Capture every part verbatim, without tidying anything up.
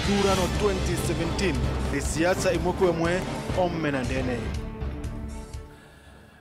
Ithurano twenty seventeen, ni siasa imwe kwa imwe, ome na ndene.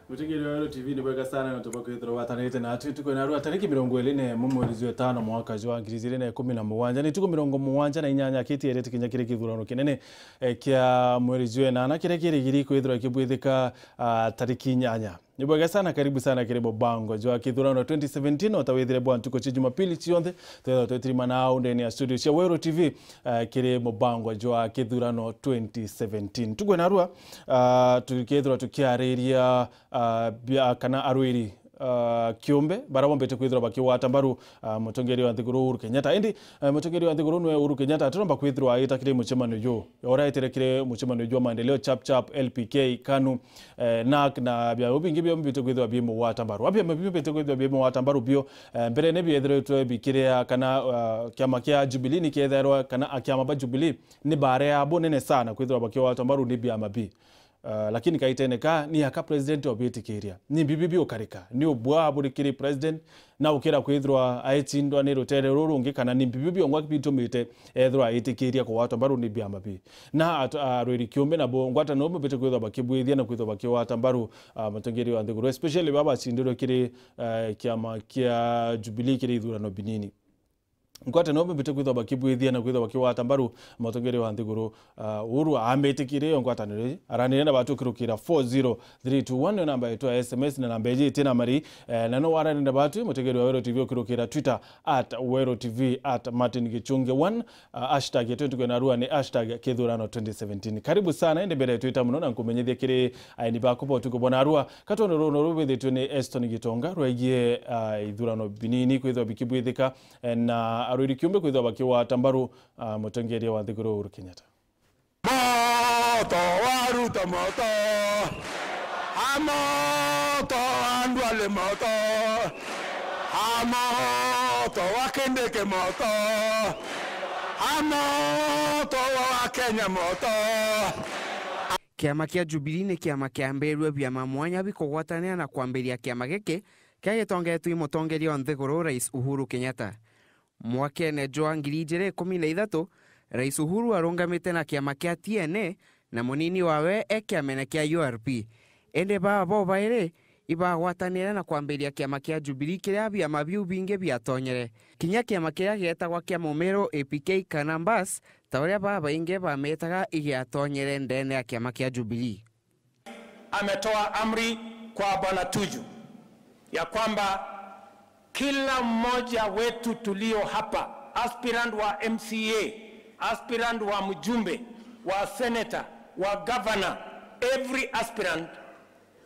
Mutegeri wa Weru T V, ni bwega sana na tuba kwithirwa watanirite na atu tuko na rua tariki mirongo iri na imwe mweri jwa itano mwaka jwa ngiri igiri na ikumi na mugwanja. Ni tuko mirongo mugwanja na inyanya kiti erete kinya kiri kithurano kinene, eh, kia mweri jwa inana kiria kirigiri kwithirwa kibwithika, ah, tariki inyanya. Ni bwega sana, karibu sana kiri mubango jwa kithurano twenty seventeen, o ta withire bwa ntuku cia Jumapili cionthe, twethagwa twetirimana au ndene ya studio cia Weru T V, eh, kiri mubango jwa kithurano twenty seventeen. Tukwena rua, ah, tukethirwa tukiariria, ah, bia, kana arwiri, ah, kiumbe, bara bombite kwithirwa bakigwata mbaru, ah, mutongeria wa nthiguru Uhuru Kenyatta. Indi, eh, mutongeria wa nthiguru nwe Uhuru Kenyatta atiromba kwithirwa aita kiri mucemanio ju. Oraetire kiri mucemanio jwa maendeleo chap chap, L P K, KANU, eh, nak na biama bingi biombite kwithirwa bimugwata mbaru. Biama biombite kwithirwa bimugwata mbaru bio, eh, mbere ni biethiritwe bikiria kana, ah, kiama kia Jubilee ni kiethairwa kana akiama ba Jubilee ni baria bunene sana kwithirwa bakigwata mbaru ni biama bi. Ah, lakini kaitene ka ni aka president obitikiria. Ni bibi biukarika. Ni ubwa buri kiri president na ukira kwithirwa aitindwa ni rutere ruru rungi kana ni bibi biongwa bitumite ethirwa aitikiria kugwatwa mbaru ni biama bi. Na at-, arwiri kiumbe nabo ngwatano bambite kwithirwa bakibwithia na kwithirwa bakigwata mbaru, ah, mutongeria wa nthiguru, especially baba bacindirwe kiri, eh, kiama kia Jubilee kiri ithurano binini. Ngwatano bambite kwithirwa bakibwithia na kwithirwa bakigwata mbaru mutongeria wa nthiguru, ah, Uhuru amitikirie yo ngwataniro iji. Aranire na batu kirukira four zero three two one, yo namba yetu ya S M S na namba iji itina mari, eh, na no waranire na batu mutongeria wa Weru T V ukirukira Twitter at Weru T V, at Martin Gichunge one, ah, hashtag yetu tukwena rua ni hashtag kithurano twenty seventeen. Karibu sana, indi mbere twita muno na nkumenyithia kiri aini baku ba utuku bwa narua. Katondo ruru rubithitwe ni Eston Gitonga rwegie, ah, ithurano binini kwithirwa bikibwithika, eh, na arwiri kiumbe kwithirwa bakigwata mbaru, ah, mutongeria wa nthiguru Uhuru Kenyatta. Moto wa Ruto moto. A moto wa Duale moto. A moto wa Kindiki moto. A moto wa Kenya moto. Kiama kia Jubilee ni kiama kiambirue biama mwanya bikugwatanira na kwambiria kiama giki kia gitongetwe i mutongeria wa nthiguru Rais Uhuru Kenyatta. Mwakene jwa ngiri ijiri ikumi na ithatu, Rais Uhuru arungamite na kiama kia T N A na munini wawe e kiamene kia U R P. Indi baa bobairi ibagwatanire na kwambiria kiama kia Jubilee kiria biama biu bingi biatonyere. Kinya kiama kiria gietagwa kia Mumiru A P K kana Mbas, ta uria babaingi bamitaga, igiatonyere ndene ya kiama kia Jubilee. Ametoa amri kwa Bwana Tuju ya kwamba kila mmoja wetu tulio hapa, aspirant wa M C A, aspirant wa mjumbe, wa senator, wa governor, every aspirant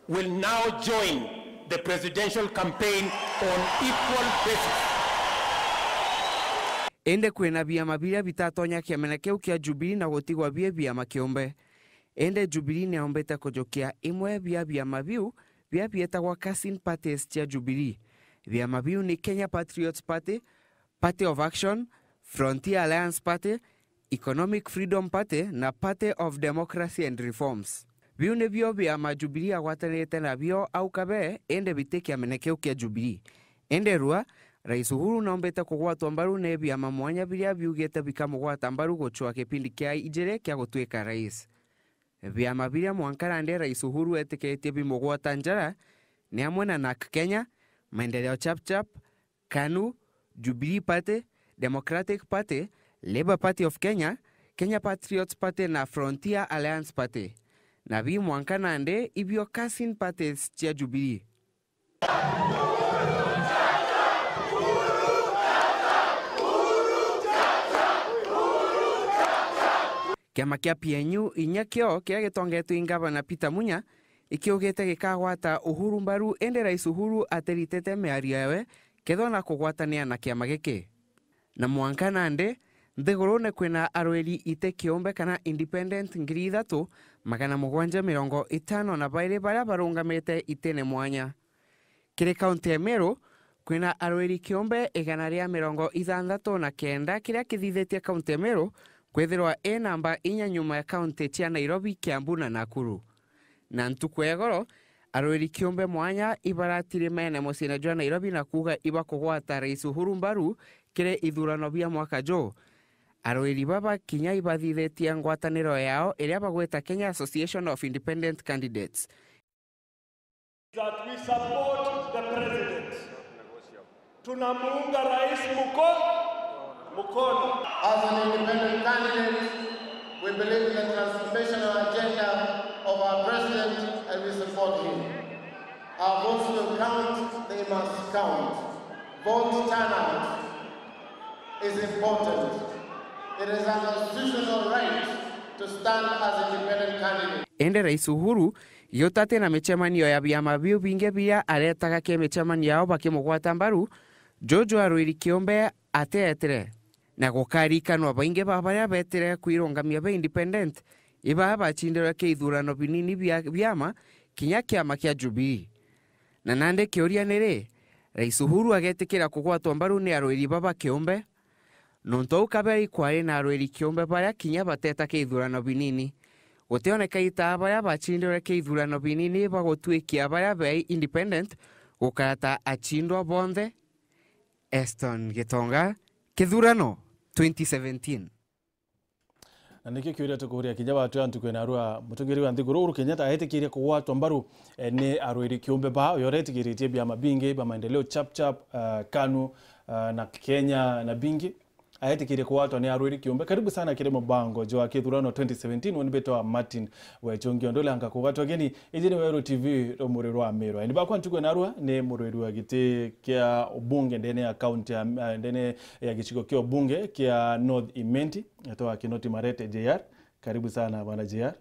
will now join the presidential campaign on equal basis. Indi kwina biama biria bitatonya kiamene kiu kia Jubilee na gutigwa bie biama kiumbe. Indi Jubilee niyombite kujukia imwe bia biama biu bia bietagwa cousin parties cia Jubilee. Biama biu ni Kenya Patriots Party, Party of Action, Frontier Alliance Party, Economic Freedom Party na Party of Democracy and Reforms. Biu nibio biama Jubilee agwatanirite nabio au kabe, indi biti kiamene kiu kia Jubilee. Indi rua, Rais Uhuru noombite kugwatwa mbaru ni biama mwanya biria biugite bikamugwata mbaru gucwa kipindi kia ijiri kia gutuika rais. Biama biria mwanka nandi Rais Uhuru etikiritie bimugwata njara ni amwe na nak Kenya, Maendeleo Chap Chap, KANU, Jubilee Party, Democratic Party, Labour Party of Kenya, Kenya Patriots Party na Frontier Alliance Party. Na bi mwanka nandi ibio cousin parties cia Jubilee. Kiama kia P N U inya kio kiria gitongetwe i Ngavana Peter Munya ikiugite gikagwata Uhuru mbaru, indi Rais Uhuru atiritite miario yawe kethwa na kugwatania na kiama giki. Na mwanka nandi, nthigurune kwina arwiri iti kiumbe kana independent ngiri ithatu, magana mugwanja mirongo itano na bairi baria barungamite itine mwanya. Kiri kaunti ya Meru, kwina arwiri kiumbe igana ria mirongo ithanthatu na kenda, kiria kithithitie kaunti ya Meru kwithirwa i namba inya nyuma ya kaunti cia Nairobi, Kiambu na Nakuru. Na ntuku ya igoro, arwiri kiumbe mwanya ibaratirimene muciine jwa Nairobi na kuuga ibakugwata Rais Uhuru mbaru kiri ithurano bia mwaka juu. Arwiri baba kinya ibathithitie ngwataniro yao iria bagwita Kenya Association of Independent Candidates. That we support the president. Tunamuunga rais muko-, mukono. As an independent candidate, we believe in the transformational agenda of our president and we support him. Our votes will count, they must count. Vote turnout is important. It is a constitutional right to stand as independent candidate. Indi Rais Uhuru giutati na micemanio ya biama biu bingi biria aretaga ki micemanio yao bakimugwata mbaru, Juju Arwiri Kiumbe atietire. Na gukarikanwa baingi ba baria betire kwirungamia be independent, ibaa bacindirwe ki ithurano binini bia biama, kinya kiama kia Jubilee. Na nandi kiuria ni ri, Rais Uhuru agetikira kugwatwa mbaru ni arwiri baba kiumbe? Nontu au kabere ikwari na arwiri kiumbe baria kinya bateta ki ithurano binini. Gutioneka itaa baria bacindirwe ki ithurano binini bagutwikia baria bei independent gukara ta acindwa bonthe. Eston Gitonga, Kithurano twenty seventeen. Na nikio kiuria tukuria kinya batu ya ntuku ya narua, mutongeria wa nthiguru Uhuru Kenyatta aetikirie kugwatwa mbaru eh, ni arwiri kiumbe ba uyo uretikiritie biama bingi bia maendeleo chap chap, uh, KANU, uh, na Kenya na bingi. Aetikirie kugwatwa ni arwiri kiumbe. Karibu sana kiri mubango jwa kithurano twenty seventeen, we ni mbitwa Martin Wechungi. Undu uria nkakugatwa geni, iji ni Weru T V, rumuri rwa Meru. Eni bakwa ntuku ya narua ni murwiri wa giti kia ubunge ndene ya kaunti ya, eh, ndene ya gicigo kia ubunge kia North Imenti, etwa Kinoti Marete J R. Karibu sana bwana J R.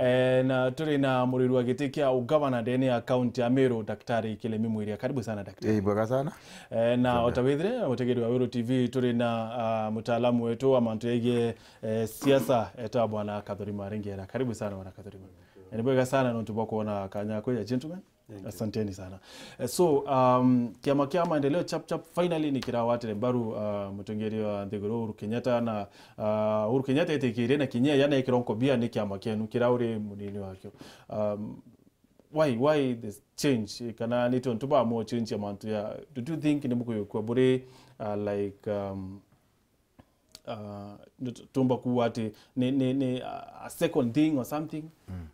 Eh, na turi na murwiri wa giti kia ugavana ndene ya kaunti ya Meru, Daktari Kilemi Mwiria. Karibu sana daktari. Eh, bwega sana. Eh, na otawithire mutegeri wa Weru T V turi na uh, mutaalamu wetu wa mantu yegie eh, siasa, etwa bwana Kathuri Maringera. Karibu sana bwana Kathuri. Eh, ni bwega sana nontu bwa kuona kanya kwija gentlemen. Asanteni sana. Eh, so, um, kiama kia maendeleo chap chap finally ni kirawatire mbaru uh, mutongeria wa nthiguru Uhuru Kenyatta, na uh, Uhuru Kenyatta etikirie na kinya yana ikironko bia ni kiama kienu kira uri munini wakio. Um, why, why this change? Kana ni tontu ba mo change ya mantu ya, do you think ni mukuyukua buri uh, like um, uh, tumba kuwa ati ni, ni, ni a second thing or something? Mm.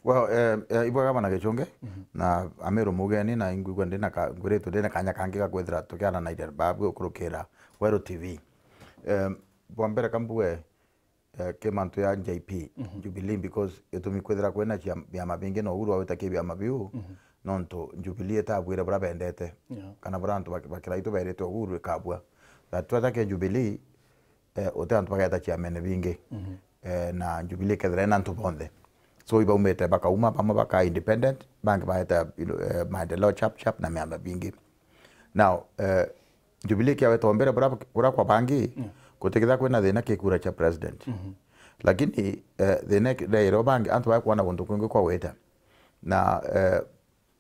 Well, eh, eh, ibwega bana Gichunge, mm -hmm. Na Ameru mugeni na ingwigua ndina ka, ngwiritwe ndina kanya kangi ga kwithira tukiaranairia babu ukurukira Weru T V. Eh, bwa mbere kambue eh, ki mantu ya J P, mm -hmm. Jubilee, because itumi kwithira kwina cia biama bingi na Uhuru awita ki biama biu, mm -hmm. Nontu Jubilee itabwire bura bendete, yeah. Kana bura antu bakiraitu berite Uhuru ikabua. That tweta ki Jubilee, eh, uti antu bageta ciamene bingi, mm -hmm. Eh, na Jubilee kethira ina antu bonthe. So ibaumite bakauma bamwe baka independent, bangi baeta you know, eh, maendeleo chap chap na miamba bingi. Now, eh, Jubilee kiaweta mbere bura bura kwa bangi, mm. Gutikitha kwina thina ki kura cha president. Mm -hmm. Lakini eh, thina rero bangi antu bakwona guntu kwingi kwa weta. Na eh,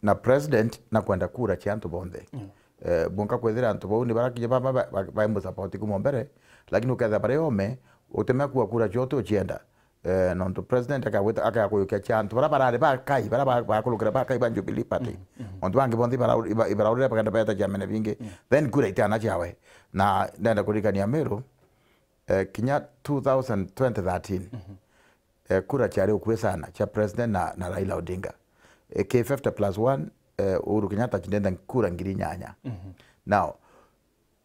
na president na kwenda kura cia antu bonthe. Mm. Eh, bunka kwethira antu bau ni barakinya ba ba ba ba support kuma mbere, lakini uketha bare ome utemea kuwa kura cio uti ucienda. Eh, nontu president akagwita akakuyukia cia antu bara barari ba kai bara ba- bakurukira ba kai ba Jubilee Party. Mm, mm. Antu bangi bonthe ibara- iba- ibaraurire bagenda beta ciamene bingi. Mm. Then kura itiana ciawe. Na ndenda kuririkania Meru, eh, kinya two thousand twenty thirteen, mm-hmm. Eh, kura ciari ukui sana cia president na, na Raila Odinga. Eh, ki fifty plus one, eh, Uhuru Kenyatta cindenda kura ngiri inyanya. Mm-hmm. Now,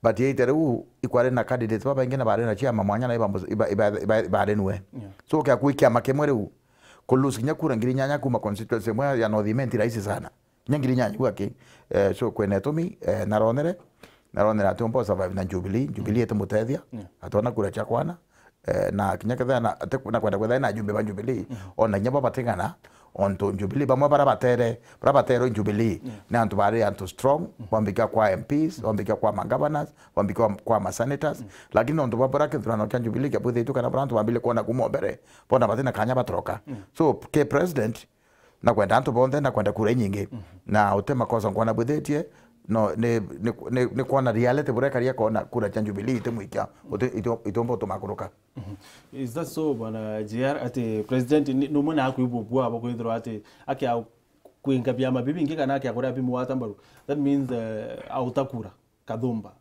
but yaite riu ikwari na candidates babaingi na bari na ciama mwanya na iba- iba- iba- iba- ibarinue. Yeah. So kia kui kiama kimwe riu ku lose kinya kura ngiri inyanya kuma constituency imwe ya North Imenti rahisi sana. Kinya ngiri inyanya iu aki. Eh, so kwina itumi, eh, naronere naronere ati umba survive na Jubilee. Jubilee itimutethia. Yeah. Atona kura cia kwana. Eh, na kinya kethira na ati- na kwenda kwethira na ajumbe ba Jubilee, ona kinya bo batigana, ontu Jubilee bamwe bara batere bara baterwe Jubilee ni antu bari antu strong, bambikia kwa M Ps, bambikia kwa magovernors, bambikia kwa masenators. Lakini ontu babura kithurano kia Jubilee kiabwithiritwe kana bara antu bambire kuona kuma mbere bona batina kanya batoroka. So ki president na kwenda antu bonthe na kwenda kura inyingi, na uti makosa nkwana bwithitie. No ni ni ni ni kwona reality burekaria kona kura cia Jubilee itimwikia, iti- iti- itomba utumakuruka. Is that so bwana J R, ati president ni numwe na akwibubua abo kwithirwa ati akia kwinga biama bibingi kana akia kuria bimwata mbaru? That means uh, autakura kathumba.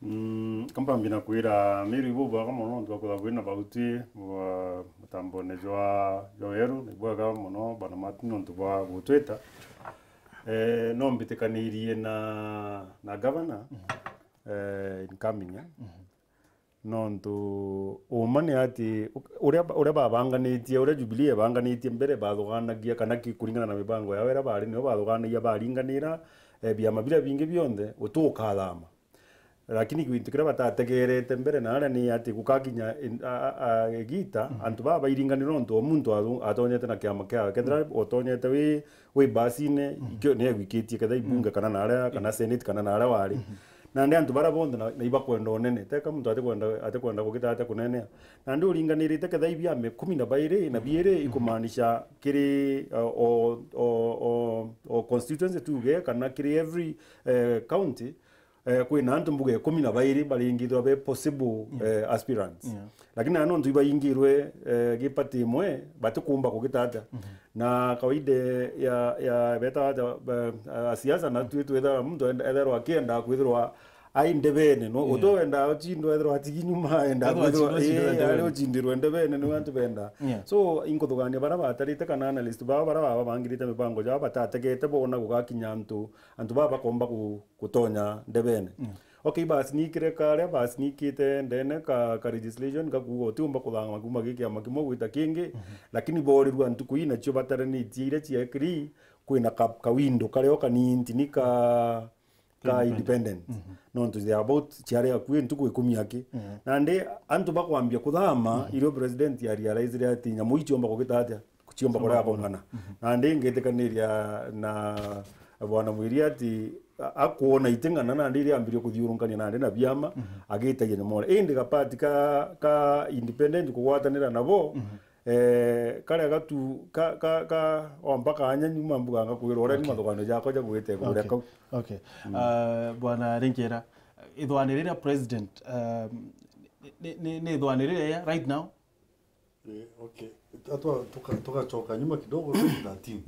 Mm, ka mpambie na kwira Mary ibubwega mono nontu bwa kwithirwa kwina bautwi bwa mutambone jwa, jwa weru, na ibwega mono bwana Martin nontu bwa gutwita. Eh, no mbitikanirie na, na governor, eh, incoming, eh. Nontu uma ni ati, uria, uria babanganitie, uria Jubilee ebanganitie mbere, bathugaanagia kana ki-, kuringana na mibango yao iria bari nio bathugaanagia, baringanira, eh, biama biria bingi bionthe, utukathama. Lakini gintu kiria batategerete mbere na aria ni ati gukakinya in-, a, a, a, igita, antu baba bairinganira nontu o muntu athu-, atonyete na kiama kiawe. Kethira utonyete wi, wi basine, ikio ni egwikitie kethira ibunge kana na aria, kana senate kana na aria wari. Nandi antu baria bonthe na, na ibakwenda unene. Teka muntu atikwenda, atikwenda kugita atia kunenea. Nandi uringanirite kethira ibiama ikumi na bairi na biiri, ikumaanisha kiri, uh, o, o, o, o constituency tuge, kana kiri every, eh, county, eh, kwina antu mbuga ikumi na bairi baringithirwa be possible, eh, aspirants. Yeah. Lakini na nontu ibaingirwe, eh, gi party imwe, batikumba kugita atia. Na kawaida ya, ya beta atia, eh, a siasa na twi twitha muntu enda-, etherwa akienda kwithirwa ai ndebene, no? Yeah. Uto wenda uchindwa ethirwa atigi nyuma, enda kwithirwa, eh, ari uchindirwe ndebene, niwe antu benda. Yeah. So, inkuthugania bara batarite kana analyst bao bara baba bangirite mibango jao batategete bona gugakinya antu, antu baba bakomba ku-, gutonya ndebene. Mm. Okay, basi nikire karia, basi nikite ndene ka, ka legislation, kakuuga utiumba kuthangama kuma gi kiama kimwe gwita kingi, lakini borirua ntuku ii nacio bataranitie iria ciekiri, kwina ka, ka window kario kanini ni ka, ka independent. Nontu they are about ciari akui ntuku ikumi aki. Nandi antu bakwambia kuthama, irio president ya realize ati nyamu ii ciomba kugita atia? Ciomba kuria kung'ana. Nandi ngitikaniria na bwana Mwiri ati a-, akwona iting'ana nandi iria ambirie kuthiurunkania nandi na biama, agitagia ni more. Indi gapati ka, ka independent kugwatanira nabo, eh, karia gatu, ka, ka, ka, o mpaka anya nyuma mbuga ngakwira uria ni mathuganio jakwa ja gwite kuria kau. Okay. Ah, bwana Rinkera, ithwani riria president, um, ni, ni, ni ithwani riria right now? Eh, okay. Atwa tuka-, tugacoka nyuma kidogo twenty thirteen.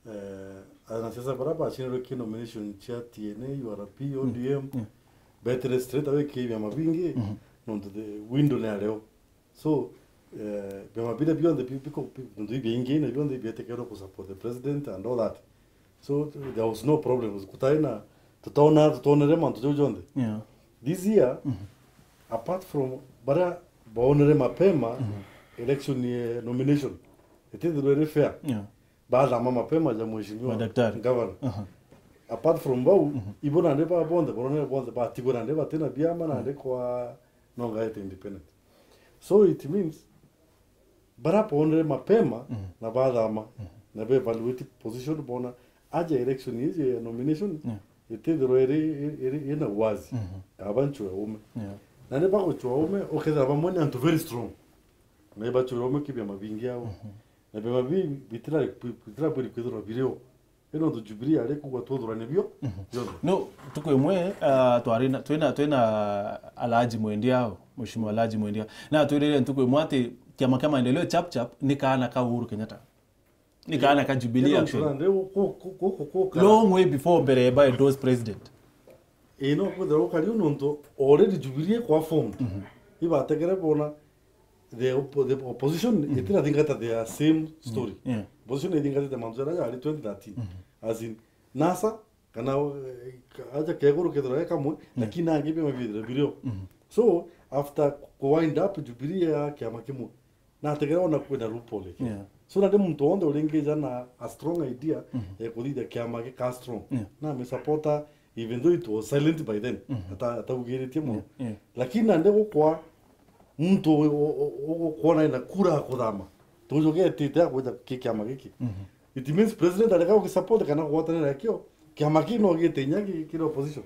Eh, anasiasa bara bacinirwe ki nomination cia T N A, U R P, O D M, betere straight away ki biama bingi, nontu the window ni areo. So, eh, biama biria bionthe bi-, biko-, bi-, bintu biingi na bionthe bietekerwe ku support the president and all that. So, there was no problem. Kutari na, tutona, tutonere mantu jau jonthe. Yeah. This year, apart from baria baonere mapema, election, eh, nomination, itithirwe iri fair. Yeah. Bathama mapema ja mheshimiwa Madaktari. Governor. Apart from bau, ibo nandi ba bonthe, baronere bonthe, batigwe nandi batina biama, nandi kwa nongaete independent. So it means, bara boonere mapema na bathama, na be evaluate position bona, aja election iji ya nomination, itithirwa iri, iri, iri ina uwazi. Aba ncua ume. Yeah. Na ni bagucua ume, ukethira bamwe ni antu very strong. Na ibacua ume ki biama bingi ao. Na biama bi-, bitira, bitira bwiri kwithirwa birio. Ino ntu Jubilee ari kugwa twuthurane bio, bionthe. No, ntuku imwe, ah, twari na, twina, twina Alhaji Mwendia ao, Mheshimiwa Alhaji Mwendia. Na atwirire ntuku imwe ati kiama kia maendeleo chap chap ni kaana ka Uhuru Kenyatta. Ni kaana ka Jubilee, actually. Long way before mbere ba endorse president. Ii, no kwithirwa gukari u nontu already Jubilee kwa formed. Ibategere bona the oppo-, the opposition itirathingata their same story. Yeah. Opposition ithingatite mantu jaria jari twenty thirteen. As in, NASA, kana, eh, aja keguru kethirwa e kamwe, lakini nangi biama bithire birio. So, after ku wind up Jubilee ya kiama kimwe, nategera ona kwina loophole. Yeah. So, nandi muntu wonthe uringija na a strong idea ya kuthithia kiama gika strong. Yeah. Na mi supporter, even though it was silent by then. Ata-, ataugiritie muno. Yeah, yeah. Lakini nandi gukwa muntu u-, u-, u-, ukwona ena kura ya kuthama. Tujugetite akwija ki kiama giki. It means president areka gukisupport kana kugwatanira nakio. Kiama kii no gite inya ki-, kiri opposition.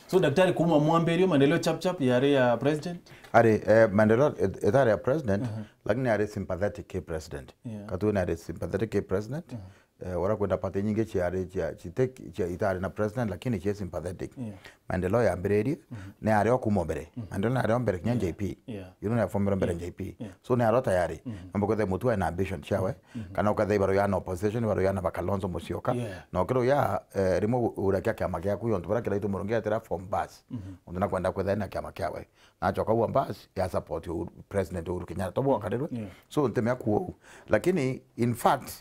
So, Daktari, kuma mwambirio, maendeleo chap chap yari ya president? Ari, eh, maendeleo it-, itari ya president, lakini ari sympathetic ki president. Yeah. Katwina ari sympathetic ki president. Eh, ora kwenda party nyingi ciari cia, cite-, cia, itari na president, lakini cie sympathetic. Yeah. Maendeleo yambiririe, ni ari o kuma mbere. Maendeleo ni ari o mbere kinya J P. Yeah. You know, ni aformire mbere J P. Yeah. So ni ari o tayari. Nomba kwetha mutu ena ambition ciawe. Kana uketha ibaru ya na opposition, ibaru ya na ba Kalonzo Musyoka. Yeah. Na ukiro ya, eh, rimwe u-, urakia kiama giaku, yontu bara Kiraitu Murungi etira form bus. Untu na kwenda kwetha na kiama kiawe. Na acoka ua bus ya support Uhuru, President Uhuru Kenyatta. Tobo wakarirwe. Yeah. So ntemea kuo. Lakini, in fact,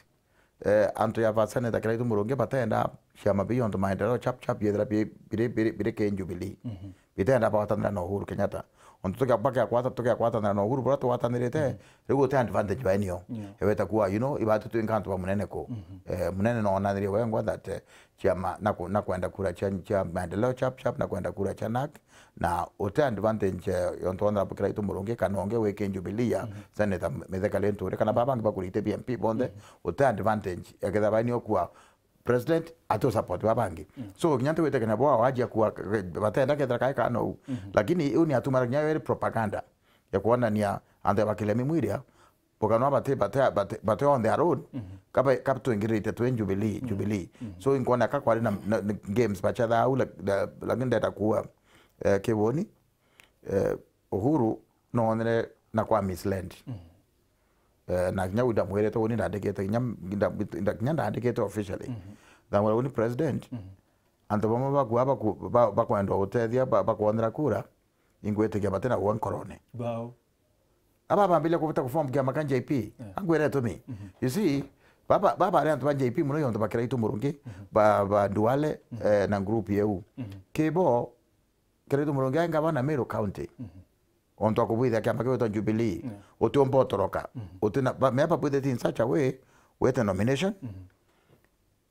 eh, antu ya ba Senator Kiraitu Murungi batenda ciama biu, ontu maendeleo chap chap yethira bi-, biri, biri, biri ki Jubilee. Bitenda bagwatanira na Uhuru Kenyatta. Ontu tukia-, bakia gwata-, tukia gwatanira na Uhuru, bura tugwatanirite, riu guti advantage baenio. Yeah. Eweta kuwa, you know, ibatu twinka antu ba munene ku. Eh, munene no onanirie wengwa that, eh, ciama na ku-, na kwenda kura cia, cia maendeleo chap chap, na kwenda kura cia nak, na uti advantage, eh, yontu Honorable Kiraitu Murungi kana ungi wi ki Jubilee ya Senator Mithika Linturi, kana baba bangi bakurite B M P bonthe, uti advantage. Eketha baini okua president ati support baba bangi. So, kinya ntiwite kenya bwa wajia kuwa, batenda kethira kae kana u. Lakini iu ni atumara kinya iri propaganda ya kuonania antu ya bakile mimwiria, bukanwa bati, bati, bati, bati on their own, kaba, kaba twingirite twi Jubilee, Jubilee. So, inkona ka kwari na, na, na games bachetha au, lak-, la-, lakini ndenda kuwa, eh, kiwoni, eh, Uhuru nonere na kwa mislead. Eh, na kinya u ndamwirite uni ndandikite, kinya, nda-, nda-, kinya ndandikite officially. Ndamwira uni president, antu bamwe baku, baku, ba-, bakwenda utethia, ba-, bakwonera kura, ingwitikia batina gwa nkorone. Bao. Aba bambiria kubuta kuform kiama kia J P. Yeah. Angwire itumi. You see, baba, baba ari antu ba J P muno, yontu ba Kiraitu Murungi, ba, ba Duale, eh, na group yeu. Kibo, Kiraitu Murungi ai ngavana Meru County. Ontu akubwithia kiama kiu gitwa Jubilee. Yeah. Utiumba utoroka. Utina, ba, me babwithite in such a way, wete nomination.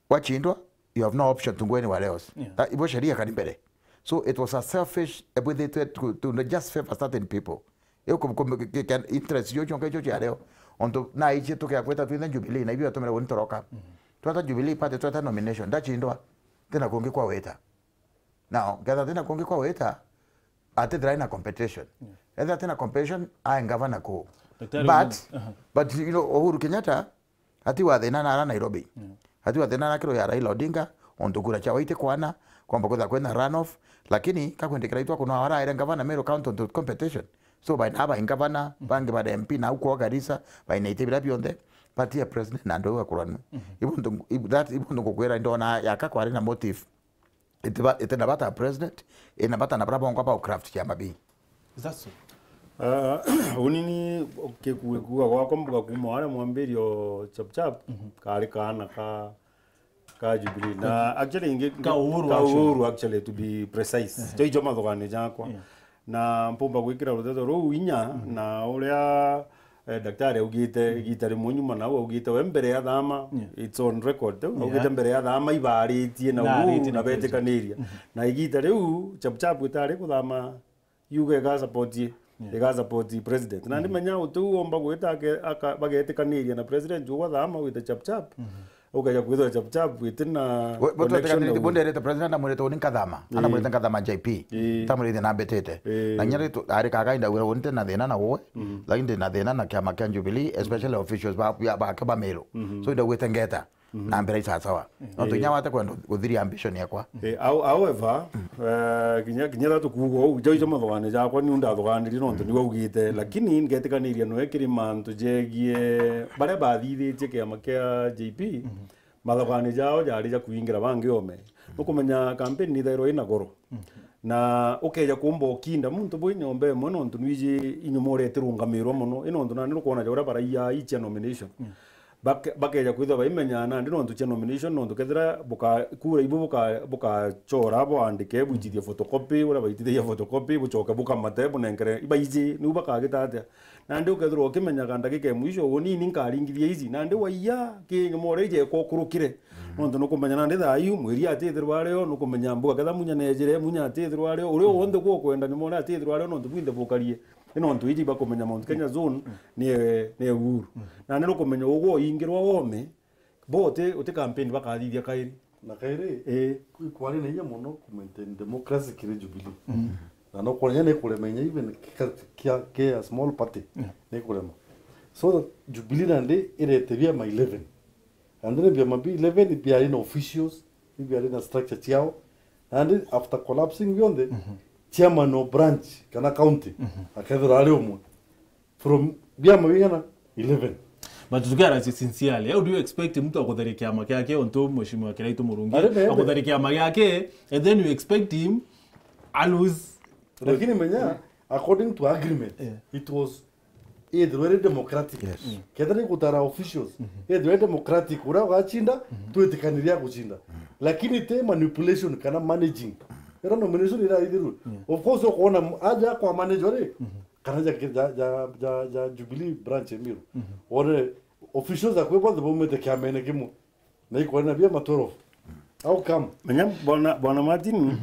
Wachindwa, you have no option to go anywhere else. Yeah. That, ibo sheria kari mbere. So it was a selfish, ebwithitwe to, to just favor certain people. Iu ku-, ku-, ki-, ki-, interest cio cionka icio ciario. Ontu na ici tukia kwita twithe Jubilee, na ibio yatumire uni toroka. Tweta Jubilee Party, tweta nomination, ndachindwa, tina kungi kwa wita. Now, ngetha tina kungi kwa wita, atithira ina competition. Yeah. Etha tina competition, ae ngavana ku. Daktari But, Uhuru, aha. But, you know, Uhuru Kenyatta, ati wa thina na ara Nairobi. Yeah. Ati wa thina na kiro ya Raila Odinga, ontu kura cia waiti kwana, kwamba kwitha kwina runoff, lakini kakwendekera itwa kuno ara aire ngavana Meru County ontu competition. So, baina aba ngavana, bangi ba M P na au kwa Garissa, baina iti bira bionthe, party ya president na andu au akuranu. Ibo ntu, ibo that, ibo ntu ngukwira ndona yaka kwari na motive. Itiba-, itina bata president, ina bata na bara bongwa ba craft kiama bii. Is that so? Ah, uni ni, okay, ku-, kuuga gwakwa mbuga kuuma waria mwambirio chap chap, kari kaana ka, ka Jubilee. Na actually ingi, ka Uhuru, ka actually. Uhuru, actually, to be precise. Ehe. Cho icho mathugani jakwa. Yeah. Na mpumba gwikira ruteto ruu inya, na uria, eh, daktari augite, igita rimwe nyuma nau augite we mbere ya thama, it's on record, tu, augite mbere ya thama ibaaritie na Uhuru na betikaniria. Na igita riu chap chap itari kuthama yuga iga support, iga support president. Na ndimenya utiu omba gwita ake-, aka-, bagetikaniria na president ugwa thama wite chap chap. Ukeja kwithwa chap chap wite na connection na Uhuru. Bunderete president amwirite uni nkathama. Ii. Anamwirite nkathama J P. Ii. Tamwirite na mbetete. Ii. Na nyari tu, ari kaga inda wira uni na thina na uwe. Lakini ndina thina na kiama kia Jubilee, especially officials ba, ya, bake ba Meru. So inda gwite ngeta. Na mbere isasawa. No tunya wate kwenda guthiria ambition yakwa. Eh, how-, however, eh, kinya, kinya tha tukuuga uu, jau icio mathugani jakwa, niu ndathuganirie nontu niwe augite, lakini ngetikaniria noe kiri mantu jegie baria bathithitie kiama kia J P, mathugani jao jari ja kuingira bangi ome. Nukumenya campaign nithairwa ina goro. Na ukeja kumba ukinda muntu bwi nyomba imwe nontu nwiji inyuma uria itirungamirwa mono, i nontu nandi nukwona ja uria baraiya ichia nomination. Bake-, bakeja kwithirwa baimenyaa nandi nontu cia nomination, nontu kethira buka-, kura ibu buka-, bukachora bwandike, bwitithie photocopy, uria baitithagia photocopy, bucoke bukamate, bunenkere, ibaiji, niu bakagita atia? Nandi ukethirwa ukimenyaga ndagika ya mwisho, uni ni nkaringithia ici, nandi waiya, ki nyuma uria ijekwa ukurukire. Nontu nukumenya nandi thaa iu, mwiri atithirwa ario, nukumenya mbuga ketha munya nejire, munya atithirwa ario, uria wonthe gukwenda nyuma uria atithirwa ario, nontu bwinthe bukarie. Ni nontu iji bakumenya Mount Kenya zone ni, ni Uhuru. Na ni rukumenya ugwo uingirwa wome, bo uti, uti campaign bakathithia kairi. Na kairi, ii, kwi kwari na inya mono ku maintain democracy kiri Jubilee. Na no kwona ni kurema inya even kia, kia, kia small party, ni kurema. So that Jubilee nandi irete biama eleven. And then biama bi eleven biari na officials, biari na structure ciao. And after collapsing bionthe, chairman o branch kana county, akethirwa ari umwe. From biama bigana? Eleven. But tukiara sincerely, how do you expect mtu akutharia kiama kiake, ontu Mheshimiwa Kiraitu Murungi, Ari nebe. akutharia kiama giake, and then you expect him a lose? Lakini menya, according to agreement, Yeah. it was ethirwe iri democratic. Yes. Mm. Kethira ni gutara officials, ethirwe iri democratic, uria ugachinda, twitikaniria aguchinda. Lakini ti manipulation kana managing. Ira nomination iraithirwe. Yeah. Of course, ukoona m-, aja kwa manager ri, kana ja, ja, ja, ja, ja Jubilee branch ya Meru. Wone officials akwe bonthe baumite kiamene kimwe. Na ikwona bia ma twelve. How come? Menya, bwana, bwana Martin,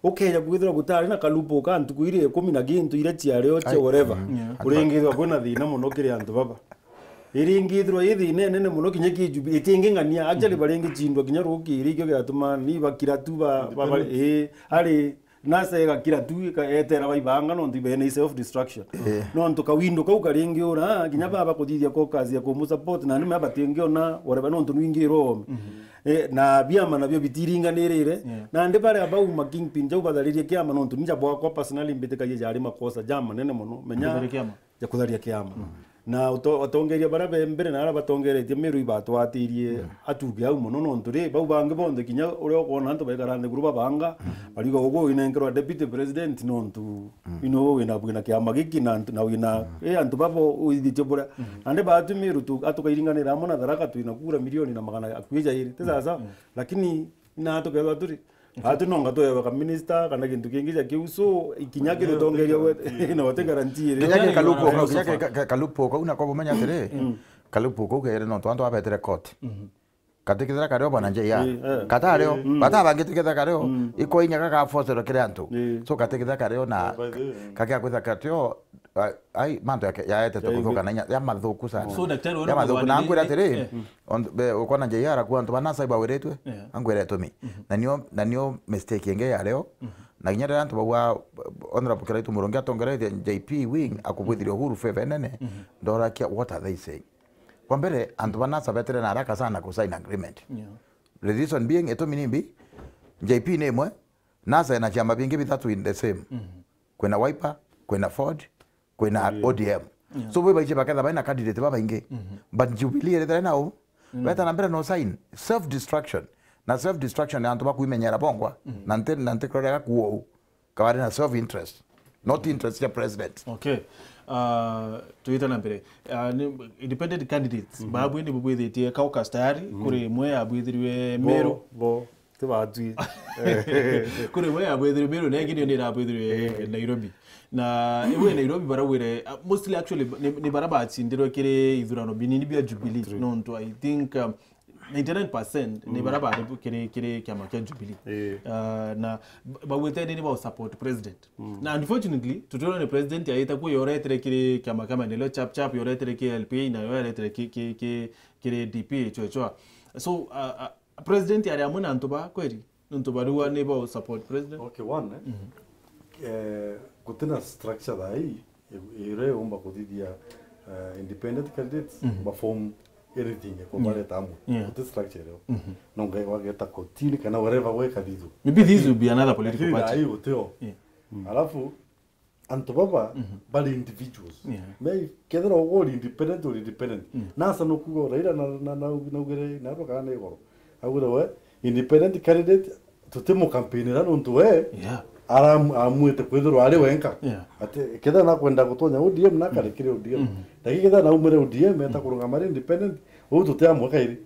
ukeja kwithirwa gutari na kalupo ka ntuku iria ikumi na kintu iria ciario cia Ai, whatever. Mm. Yeah. Uringithirwa kwina thina muno kiri antu baba. Iringithirwa i thina inene muno kinya ki Jubilee, itinging'ania. Actually, baringicindwa kinya rukiri, ikio giatuma ni bakira tu ba, ba, ba, Independent. Ii, ari NASA igakira tu, ika-, etera baibanga, nontu ibe ni self destruction. Eh. Nontu kawindo kau karingiura, kinya baba kuthithia caucus ya kumu support, na nime batingiona whatever, nontu nwingirwo. Eh, na biama nabio bitiringanirire. Yeah. Nandi baria bauma kingpin jau batharirie kiama, nontu ninja bwakwa personally mbitikagia jari makosa ja manene muno. Menya Kutharia kiama. ja kutharia kiama. Na uto-, atongeria baria be mbere na aria batongeretie Meru ibatwatirie atuge au muno, nontu ri, bau bangi bonthe kinya uria ukwona antu baikara nthiguru babanga, bariuga ugu winenkerwa deputy president nontu ino wina, wina kiama giki na, na wina, eh, antu babo uithitie buria. Nandi batu Meru tu-, atukairinganira amwe na Tharaka twina kura milioni na magana akui jairi. Ti sasa? Lakini na tukethwa turi Atu nonga tweweka minister kana gintu kingi ja kiu, so ikinya kirutongeria we na wate guarantee ri. Kinya ki kalupo kau, kinya ki ka-, ka-, kalupo kau na kwa bumenya atiri, kalupo kau kere nontu antu abetere court. Katikithira kario bwana J R. Eh, eh. Katario, batabangite kitha kario, iko inya kaka force kiri antu. Eh. So katikithira kario na By the way, mm. kakia kwitha katio, a-, ai, mantu yake, yaetete Yaigwe. kuthuka na inya, ya mathuku sana. So, daktari, wona Ya mathuku, na mwanirire, ankwira atiri, eh. On, be, ukona J R ku antu bana sai bawiritwe, Yeah. angwira itumi. Na nio, na nio mistake ingi ya rio. Na kinya riria antu bauga, Honorable Kiraitu Murungi atongeretie J P wing, akubwithirie Uhuru favor nene, ndorakia, what are they saying? Kwa mbere, antu ba NASA betere na haraka sana ku sign agreement. Yeah. The reason being, itumi ni mbi, J P ni imwe, NASA ina ciama bingi bithatu in the same. Kwina Wiper, kwina Ford, kwina O D M. Yeah. So, bwe baiche baketha baina candidate babaingi. But Jubilee erethera nao, beta na mbere no sign. Self destruction. Na self destruction ni antu bakwimenyera bongwa. Na nte, na nte kurega kuo. Kabari na self interest. Not interest ya president. Okay. Uh, tuite na mbere. Uh, ni, independent candidates. Babu ni bubwithitie caucus tayari. Kuri imwe abwithirwe Meru. Bo, bo. Tibatwi. Kuri we abwithirwe Meru, na ingi nio nirabwithirwe Nairobi. Na iwe Nairobi barawire, uh, mostly actually ni, ni bara bacindirwe kiri ithurano binini bia Jubilee. True. Nontu I think, um, ninety-nine percent ni bara bari kiri, kiri kiama kia Jubilee. Eh. Uh, na b-, bawite ni ba support president. Na unfortunately, tutwirwa ni president aite ku yoretere kiri kiama kia maendeleo chap chap, yoretere ki L P A, na yoretere ki, ki, ki, kiri D P chwa chwa. So, uh, uh, President ari amwe na antu ba kweri? Nontu bariwa ni ba support president. Okay, one, eh? Eh, gutina structure thaa ii, i-, iria iumba kuthithia, eh, independent candidates, ba form anything, iko bareta amwe. Yeah. Guti structure irio. No ngai wageta kotini kana wherever we kathithu. Maybe this will be another political party. Lakini thaa ii gutio. Yeah. Alafu, antu baba bari individuals. Yeah. Me kethira ugo uri independent, uri independent. NASA no kuga Raila na, na, na, naugire, na ro kana na igoro. Augire we, independent candidate, tutimukampinira nontu we, Yeah. aram-, amwite kwithirwa ari wenka. Yeah. Ati, kethira nakwenda gutonya O D M, nakarikire O D M. Lakini kethira naumire O D M, eta kurungama ari independent, uu tutiamweka iri.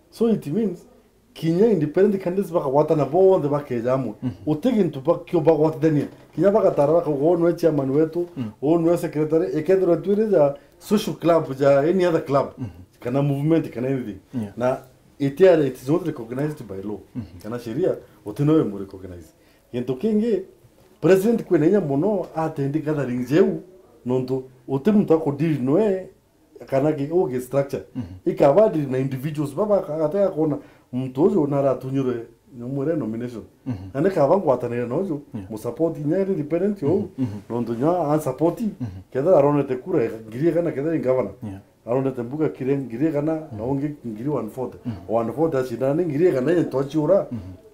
So it means, kinya independent candidates bakagwatana bonthe bakeja amwe. Uti gintu ba-, kio bagwatithania. Kinya bagatara bakauga, "Uu niwe chairman wetu, uu niwe secretary." Ikethirwa twiri ja social club, ja any other club, kana movement, kana anything. Yeah. Na itiare, it is not recognized by law. Kana sheria, uti nowe mu recognize. Gintu kingi, president kwina inya muno attend gathering jeu, nontu uti muntu akudeal noe, kana ki, ugi structure. Ikaba ndiri na individuals baba ka-, gatega kuona muntu uju naratunyirwe nyomwire nomination. Na ni kaba ngwatanire na uju, mu support inya iri independent ou, nontu nya a support, kethira aronete kura ngiri igana kethira i governor. Yeah. arondete mbuga kire ngiri igana, na ungi ngiri one forty. One forty acindana ni ngiri igana, ye twaciura,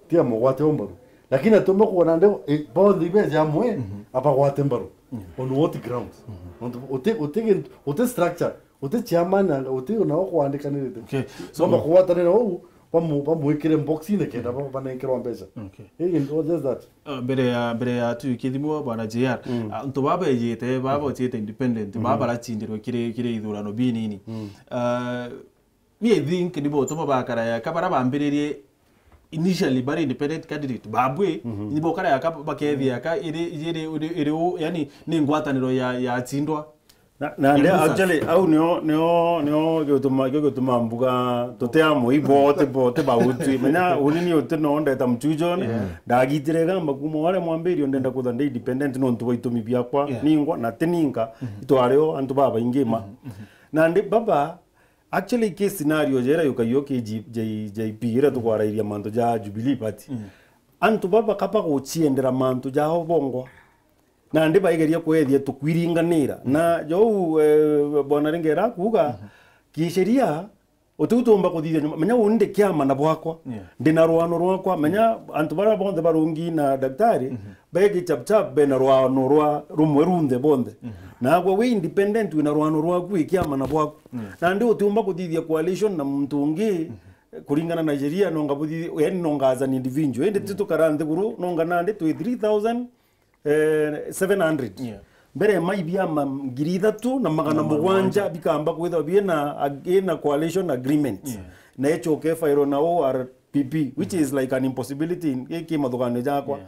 tia mugwate umbaru. Lakini atumba kuona nde, e, bonthe ibeja amwe, abagwate mbaru. On what grounds? Ontu uti, uti gintu, uti structure, uti chairman, anga uti ona ukwandikaniritwe. Okay. So, bamba kugwatanira uu, bamu-, bamwikire boxine kenda ba-, banenkerwa mbeca. Okay. Hey, and all just that. Ah, mbere ya, mbere ya tuikithimwa, Bwana J R, ah, antu baba bejite, baba bociite independent, baba baracindirwe kiri, kiri ithurano binini. Ah, mi I think ni botuma bakara yaka, bara bambiririe initially bari independent candidate, babwe, ni bokara yaka bakethia yaka iri, iri, iri, iri u-, yani, ni ngwataniro ya, ya cindwa. Na, na nde, actually, au nio, nio, nio gituma, gio gituma mbuga tuti amwe, ibote, bote bauti. Menya, uni ni uti no ndeta Mchujon, ndagitire gamba kuma wale mwambirio ndenda kutha ndi independent nontu bwa itumi biakwa, ningwa, na ti ninka, itwario antu babaingi ma. Na ndi baba, actually, ki scenario jera yukaio ki G-, J-, J P, ira tukwarairia mantu ja Jubilee Party. Antu baba kaba guciendera mantu jao bongwa. Nandi baigeria kwethia tukwiringanira. Na jou, eh, Bwana Ringera akuuga, kisheria, utiu tuumba kuthithia nyuma. Menya uni ndi kiama na bwakwa. Ndi na rwano rwakwa. Menya antu baria bonthe barungi na daktari, begi chap chap bena rwano rwa rumwe runthe bonthe. Nagwe wi independent wina rwano rwaku wi kiama na bwaku. Nandi utiumba kuthithia coalition na muntu ungi, kuringana na sheria, nonga buthithia, yani nonga as an individual. Indi ti tukara nthiguru, nonga nandi twi three thousand, eh, seven hundred. Mbere mai biama ngiri ithatu na magana mugwanja bikamba kwithwa biena ag-, ina coalition agreement. Na ichoke fairo na O R P P, which is like an impossibility in, ki, ki mathuganio jakwa.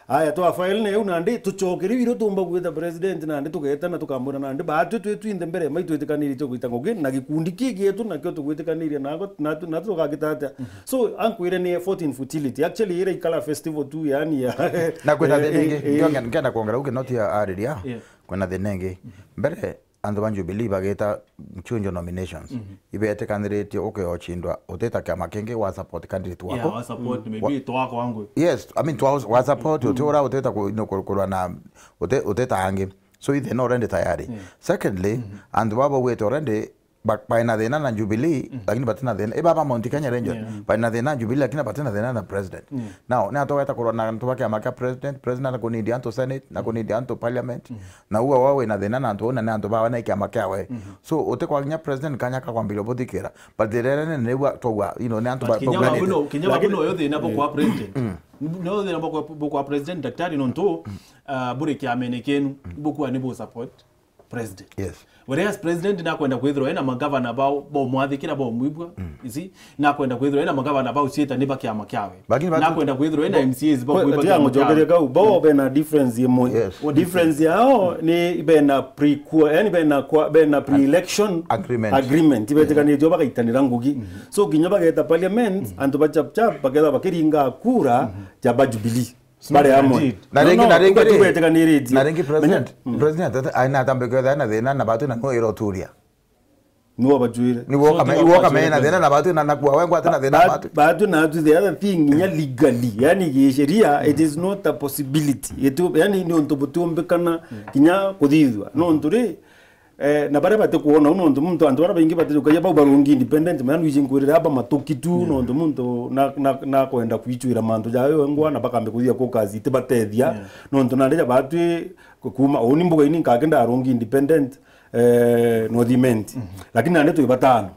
Aya, twa file na iu nandi, tuchokere irio tumba gwita president nandi, tugetana tukamwira nandi, batwi twi twinthe mbere mai twitikaniritie gwita ngugi, na gikundi ki gietu nakio tugwitikaniria nako, natu, natu tugagita atia? So, ankwire ni effort in futility. Actually, ira ikara festival tu, yani, ya na kwina thina ingi, eh, eh, ndio nge-, ngenda kwongera uke noti ya ariria, kwina thina ingi. Mbere, antu ba Jubilee bageta Mchujo nominations. Ibetikaniritie uke ocindwa, utita kiama kingi wa support candidate wako. Yeah, wa support, maybe twako wangu. Yes, I mean, twa, wa support, uti ura utita ku-, no, ku-, kurwa na, uti-, utita angi. So, ithe no already tayari. Secondly, antu baba ugwete already, ba-, baina thina na Jubilee, lakini batina thina. Iba ba Mount Kenya Rangers, baina thina na Jubilee, lakini batina thina na president. Now, ni atogeta kurwa na antu ba kiama kia president, president na kunindi antu senate, na kunindi antu parliament. Na uwa wa wina thina na antu una ni antu bawe na kiama kiawe. So, utikwa kinya president kanya ka kwambiria buthikira. But the rere ni nigwa twaua, you know, ni antu ba-, kinya babu no, kinya babu no yo thina bukwa president. No thina bukwa, bukwa president daktari nontu, ah, buri kiamene kenu, bukwa ni bu support president. Yes. Whereas president nakwenda kwithirwa ena magavana bao, bo mwathikira, bo mwibwa, you see? Nakwenda kwithirwa ena magavana bao cieta ni ba kiama kiawe. Lakini batu- nakwenda kwithirwa ena M C As bao kwe-, mwibwa tia kiama kiawe. Mujongeria kau, bao bena difference imwe. Yes. Difference yao ni bena pre-, yani bena kwa, bena pre-election agreement. Agreement. Ibetikanitio bagaitanira ngugi. So kinya bageta parliament, antu ba chap chap, baketha bakiringa kura, ja ba Jubilee. Bari amwe. Na ringi, no, na ringi ri, tubetikaniritie. Na ringi president, president ata-, aina atambe kwetha na thina na batu na no iroturia. Niwe bajwire. Niwe okame-, iwe okame na thina na batu na nakua wengwa ati na thina na batu. Batu na atu the other thing, inya legally, yani gisheria, it is not a possibility. Itu, yani ni untu butiumbikana kinya kuthithwa. No untu ri, Eh, na baria batikuona, u nontu muntu, antu baria baingi batijukagia bau barungi independent, maya nwiji nkwirira aba matuki tu, nontu muntu na, na, nakwenda kwichwira mantu jayo engwa, na bakambe kuthia caucus itibatethia, nontu nandi ja batwi ku-, kuma, uni mbuga ini nkake ndarungi independent, eh, North Imenti. Lakini nandi twi batano.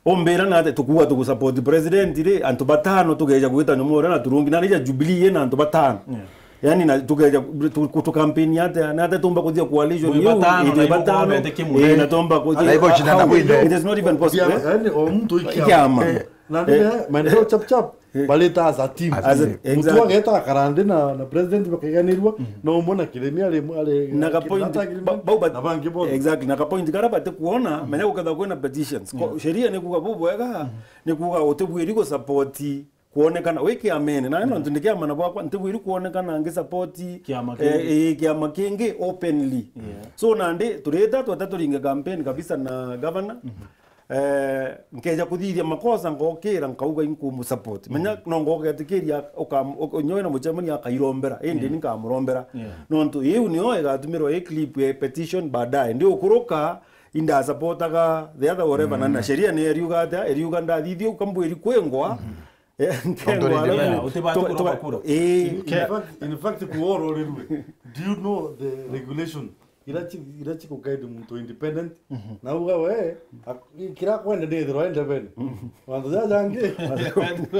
Umbira na ati tukuuga tugusupport president ri, antu batano tugeja gwita nyuma uria na turungi, nandi ja Jubilee ina antu batano. Yani, na tukeja tu-, ku-, tu campaign atia, na atia tumba kuthia coalition yu, batano, itwe na ibo batano, kwabete kimwe. Eh, na tumba kuthia, na ibo china na how, kwinde. It is not even possible. Yani, o muntu ikiama. Ikiama. Eh, na ndio, eh, maendeleo chap chap, baleta as a team. As a, exactly. Mutu ageta akarande na, na president bakaiganirwa, no umwe na kiremia ari, ari, na ka point, agreement, ba-, ba-, na bangi bo. Exactly, na ka point kara bate kuona, menya guketha kwina petitions. Ko, sheria ni kuga bubwega, ni kuga utibwiri gu support kwonekana wi kiamene, na nontu ndi kiama na bwakwa, ntibwiri kwonekana ngi support kiama kingi. Eh, eh, kiama kingi openly. So, nandi turita twata turinge campaign kabisa na governor. Eh, nkeja kuthithia makosa, ngokira, nkauga inkumu support. Menya, no ngogetikiria, ukam-, uk-, nyoe na muchemani akairombera, indi ni nkamurombera. Nontu iu nio igatumirwa i clip ya petition baadaye. Ndi ukuruka, inda supportaga the other whatever, na, na sheria ni eriuga atia, eriuga ndathithia u kambwiri kwengwa, eh, nkengwa, alafu independent. Utibati tu-, kuroka tu-, kura. Ii. In fact, in fact, kuoro rirwe. Do you know the regulation? Ira chi-, ira chikuguide muntu independent. Na uga we, ak-, kira kwenda ni ithirwa independent. Wantu jaja jangi.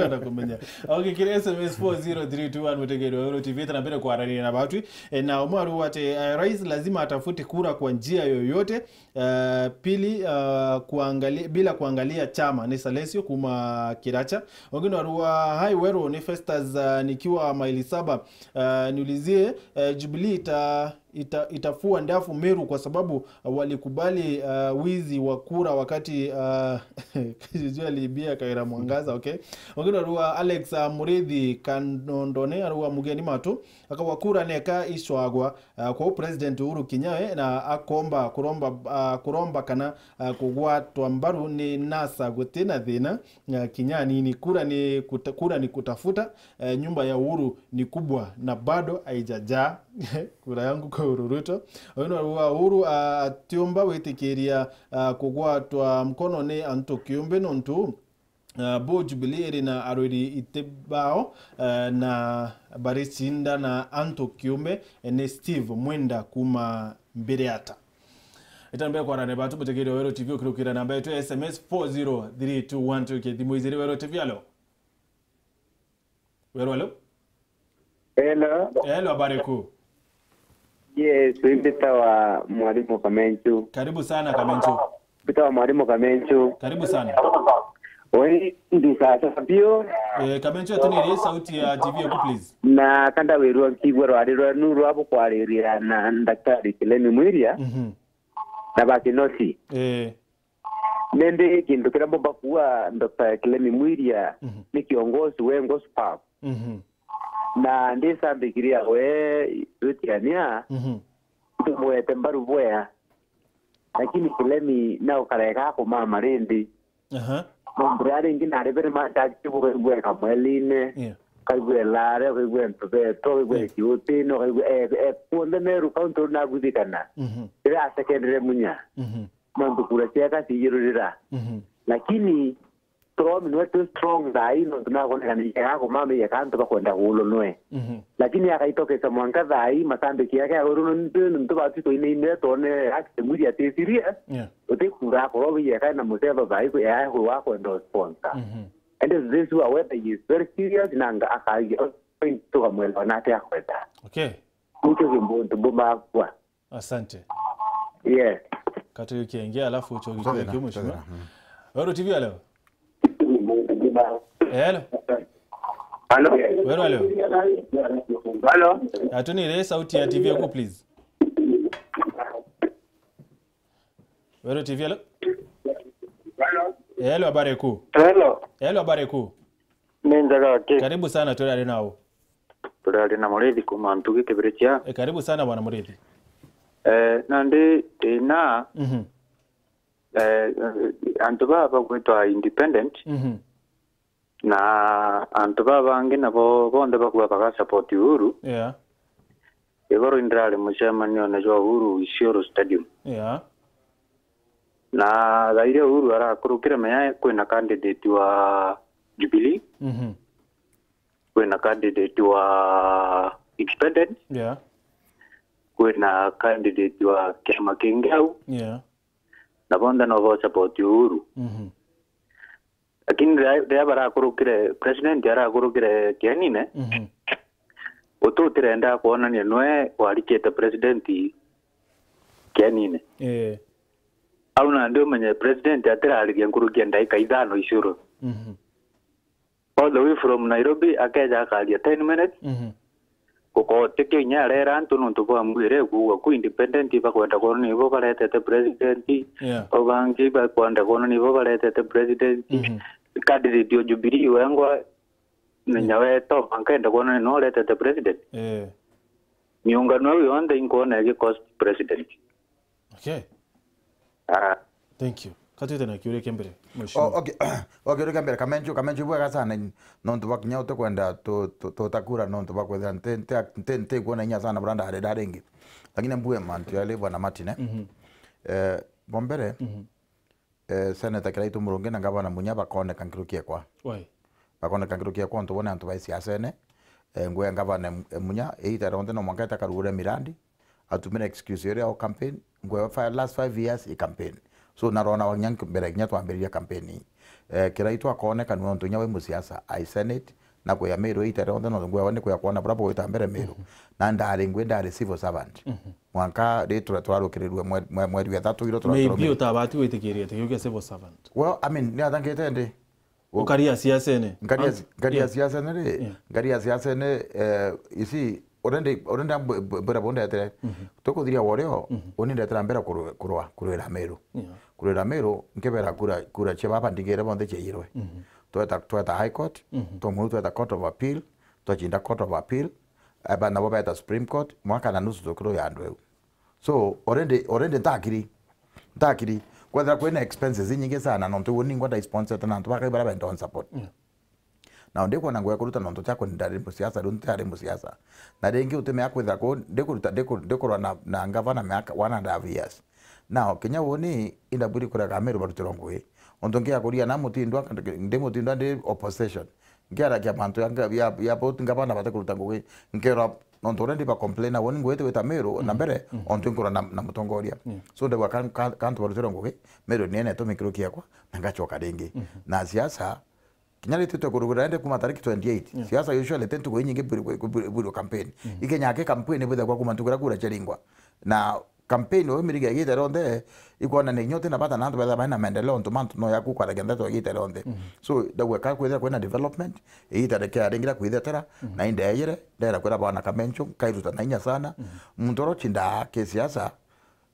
Anakumenya. Okay, kiri S M S four zero three two one, mutegeri wa Weru T V, tena mbere kwaraniria na batwi. E, na umwe aruga ati, eh, rais lazima atafute kura kwa njia yoyote. Eh, pili, eh, kuangali-, bila kuangalia chama. Ni Salesio kuma Kiracha. Wengine warua, "Hi Weru, ni Festus, eh, nikiwa maili saba. Eh, niulizie, eh, Jubilee ita-, ita-, itafua ndafu Meru kwa sababu, eh, walikubali, eh, wizi wa kura wakati, eh, Kijiji aliibia Kawira Mwangaza." Okay. Wengine warua, Alex, eh, Murithi Kanondone, arua, "Mugeni matu, akagwa kura neka icwagwa." Ah, kwou President Uhuru Kenyatta na akomba kuromba, ah, kuromba kana, ah, kugwatwa mbaru ni NASA guti na thina, ah, kinya nini. Kura ni kuta-, kura ni kutafuta, eh, nyumba ya Uhuru ni kubwa na bado haijajaa. Kura yangu kwa Uhuru Ruto. Uyu ni wa Uhuru, ah, atiumba witikiria, ah, kugwatwa mkono ni antu kiumbe nontu Ah, bo Jubilee iri na arwiri iti bao, eh, na baricinda na antu kiumbe, eh, ni Steve Mwenda kuma Mbiriata. Itambia kwarania batu mutegeri wa Weru T V ukirukira namba yetu ya S M S four zero three two one two. Kithimo iziri Weru T V, alo? Weru, alo? Hello. Hello, habari kuu? Yes, mbitawa Mwalimu Kamenchu. Karibu sana, Kamenchu. Mbitawa Mwalimu Kamenchu. Karibu sana. Oi, ndisasa bio. Eh, Kamenchu, atuniri sauti ya T V yaku, please. Na kanda wirua nkigua rwari rwenu rwa bukwariria na Daktari Kilemi Mwiria. Mhm. Na Bakinosi. Eh. Nindi kintu kiria mbumba kuuga, Doctor Kilemi Mwiria, mhm, ni kiongozi wengwa superb. Mhm. Na ndisambikiri awe twitiania, mhm, ndimwete mbaru bwea. Lakini Kilemi na ukarega kumama rindi. Aha. Nontu riria ringi nari biri machaji bukaigua e Kamweliine, yeah, ukaigua e Lare, ukaigua e Ntubeto, ukaigua e, yeah, Kiutine, ukaigua e, e, kuonthe Meru County uri naguthikana. Mhm. Riria asekendere Munya. Mhm. Nontu kura cieka ciijirurira. Mhm. Lakini Turomi nwe twi strong thaa ii, nontu nakwonekana yeka kumama yeka antu bakwenda kuulwa nwe. Mhm. Lakini akaitokesa mwanka thaa ii, matambiki yake ya uru nontu, nontu batu twainaine twone active media ati serious. Yeah. Uti kura akorwo yeka na Museva thaa ii ya kwi wa kwenda sponsor. Mhm. And this is whether he is very serious na anga akagia tukamwelewa nate akwenda. Okay. Nikio kimbuntu mbumagua. Asante. Yeah. Katuyu kienge, alafu uchoki. Totera, kienge, mheshimiwa. Totera, mm. Weru T V, alo? Hello? Hello? Weru, alo? Hello? Atunire sauti ya T V yaku, please. Weru T V, alo? Hello? Hello, habari kuu? Hello? Hello, habari kuu? Ni njega ki? Karibu sana, turi ari nau. Turi ari na Murithi kuma Ntugi Kibirichia. E, karibu sana bwana Murithi. Eh, nandi thina, mhm, eh, antu baba bagwitwa independent, mhm, na antu baba bangi nabo bonthe bakuga baga support Uhuru. Yeah. Igoro indirari mucemanione jwa Uhuru Isiolo Stadium. Yeah. Na thaa iria Uhuru arakurukire, menya kwina candidate wa Jubilee, mhm, kwina candidate wa independent, yeah, kwina candidate wa kiama kingi au, yeah, na bonthe no bo support Uhuru. Mhm. Lakini riria, riria barakurukire, president arakurukire kienine, mhm, utu utirenda kwonania nwe warikite president kienine. Eh. Au nandi umenye president atirariria nkuruki ya ndaika ithano Isiolo. Mhm. All the way from Nairobi, akeja akaria ten minutes. Mhm. Gukotikio inya arera antu nontu bwa mbwire kuuga ku independent bakwenda kwona nibo baretete president. Yeah. O bangi bakwenda kwona nibo baretete president. Mhm. Candidate o Jubilee wengwa, menya, yeah, weto, ankenda kwona ni no uretete president. Eh. Miungano iu yonthe inkwona igi cost president. Okay. Ah. Thank you. Katwite na kiuria kia mbere, mheshimiwa. Oh, okay. Okay, kiuria kia mbere, Kamenju, Kamenju bwega sana, nontu bwa kinya utikwenda tu-, tu-, tutakura nontu bwa kwithira nti, nti, nti, nti kuona inya sana bura ndari, ndari ingi. Lakini mbue mantu yale bwana Martin, eh? Mhm. Eh, Bwa mbere, Mhm. eh, Senator Kiraitu Murungi na Ngavana Munya bakoneka nkiruki ekwa. Why? Bakoneka nkiruki ekwa ontu bo ni antu bai siasene. Eh, ngwe Ngavana Em-, Munya, iita rionthe no mwanka ete akarugure mirandi, atumire excuse iria o campaign, ngwe fa-, last five years i campaign. So, narona wa kinya nk-, mbere kinya twambiriria campaign ii. Eh, Kiraitu akoneka ni ontu kinya wi musiasa, ai Senate, na kuya Meru iita rionthe, no ngwe ni kuya kwona bura bugwita mbere Meru. Mhm. Na ndari ngwe, ndari civil servant. Mhm. Mwanka ri tura-, turarukirirue mwe-, mwe-, mweri wa ithatu iro turaturumire. Maybe utabati gwitikiria ati kiu kia civil servant. Well, I mean, ni atangite ndi. Ukaria siasene. Nkaria An-, si-, nkaria yeah. siasene ri, Yeah. nkaria siasene, eh, isi, already, already mb-, mb-, mbira bundetere. Mhm. Tukuthiria worio, Mhm. uni ndetera mbira kurwe-, kurwa, kurwira Meru. Yeah. Kurwira Meru, nkibera kura, kura cia baba ndigire bonthe ciairwe. Mhm. Tweta, tweta High Court, Mhm. twamuru tweta Court of Appeal, twachinda Court of Appeal, aba nabo beta Supreme Court, mwaka na nusu tukirwa ya andu eu. So, already, already ntakiri, ntakiri. Kwethira kwina expenses inyingi sana, nontu uni ngwa ndaisponsorete na antu bakai bara benda on support. Yeah. Na ndikwona ngugi ya kuruta nontu ciakwa ndari musiasa, riu ntari musiasa. Na ringi utimea kwithira ku, ndikuruta, ndiku-, ndikurwa na, na ngavana miaka one and a half years. Now, kinya uni, indabwiri kurega Meru barutirwa ngugi. Ontu ngiakuria na mutindwa, ndi mutindwa ndi opposition. Nkiaragia mantu ya nga-, ya, ya both ngavana bate kuruta ngugi. Nkera, nontu already ba complain, woni ngugi iti gwita Meru, na Mhm. mbere, Mhm. ontu nkurwa na, na mutongoria. Yeah. So, ndauga kan-, kan-, kantu barutirwa ngugi, Meru ni ene tumikiro kiakwa, na ngachoka ringi. Mhm. Na siasa, kinya rititwe kurugura ende kuma tariki twenty-eight. Yeah. Siasa usually ti ntuku inyingi bwiri, bwiri, bwiri campaign. Mhm. Ikenya ke campaign bwithagwa kuma ntuku iria kura chiaringwa. Na campaign uyu miriga igite rionthe, ikwonania inya utina bata na antu betha baina maendeleo, ontu mantu no yaku kwaragia ndeto igite rionthe. Mhm. So, ndauga ka kwithira kwina development, igita rikia ringira kwithetera, Mhm. na indeyire, ndera kwira bwana Kamencho, nkairuta na inya sana. Mhm. Muntu uria uchindaa kisiasa,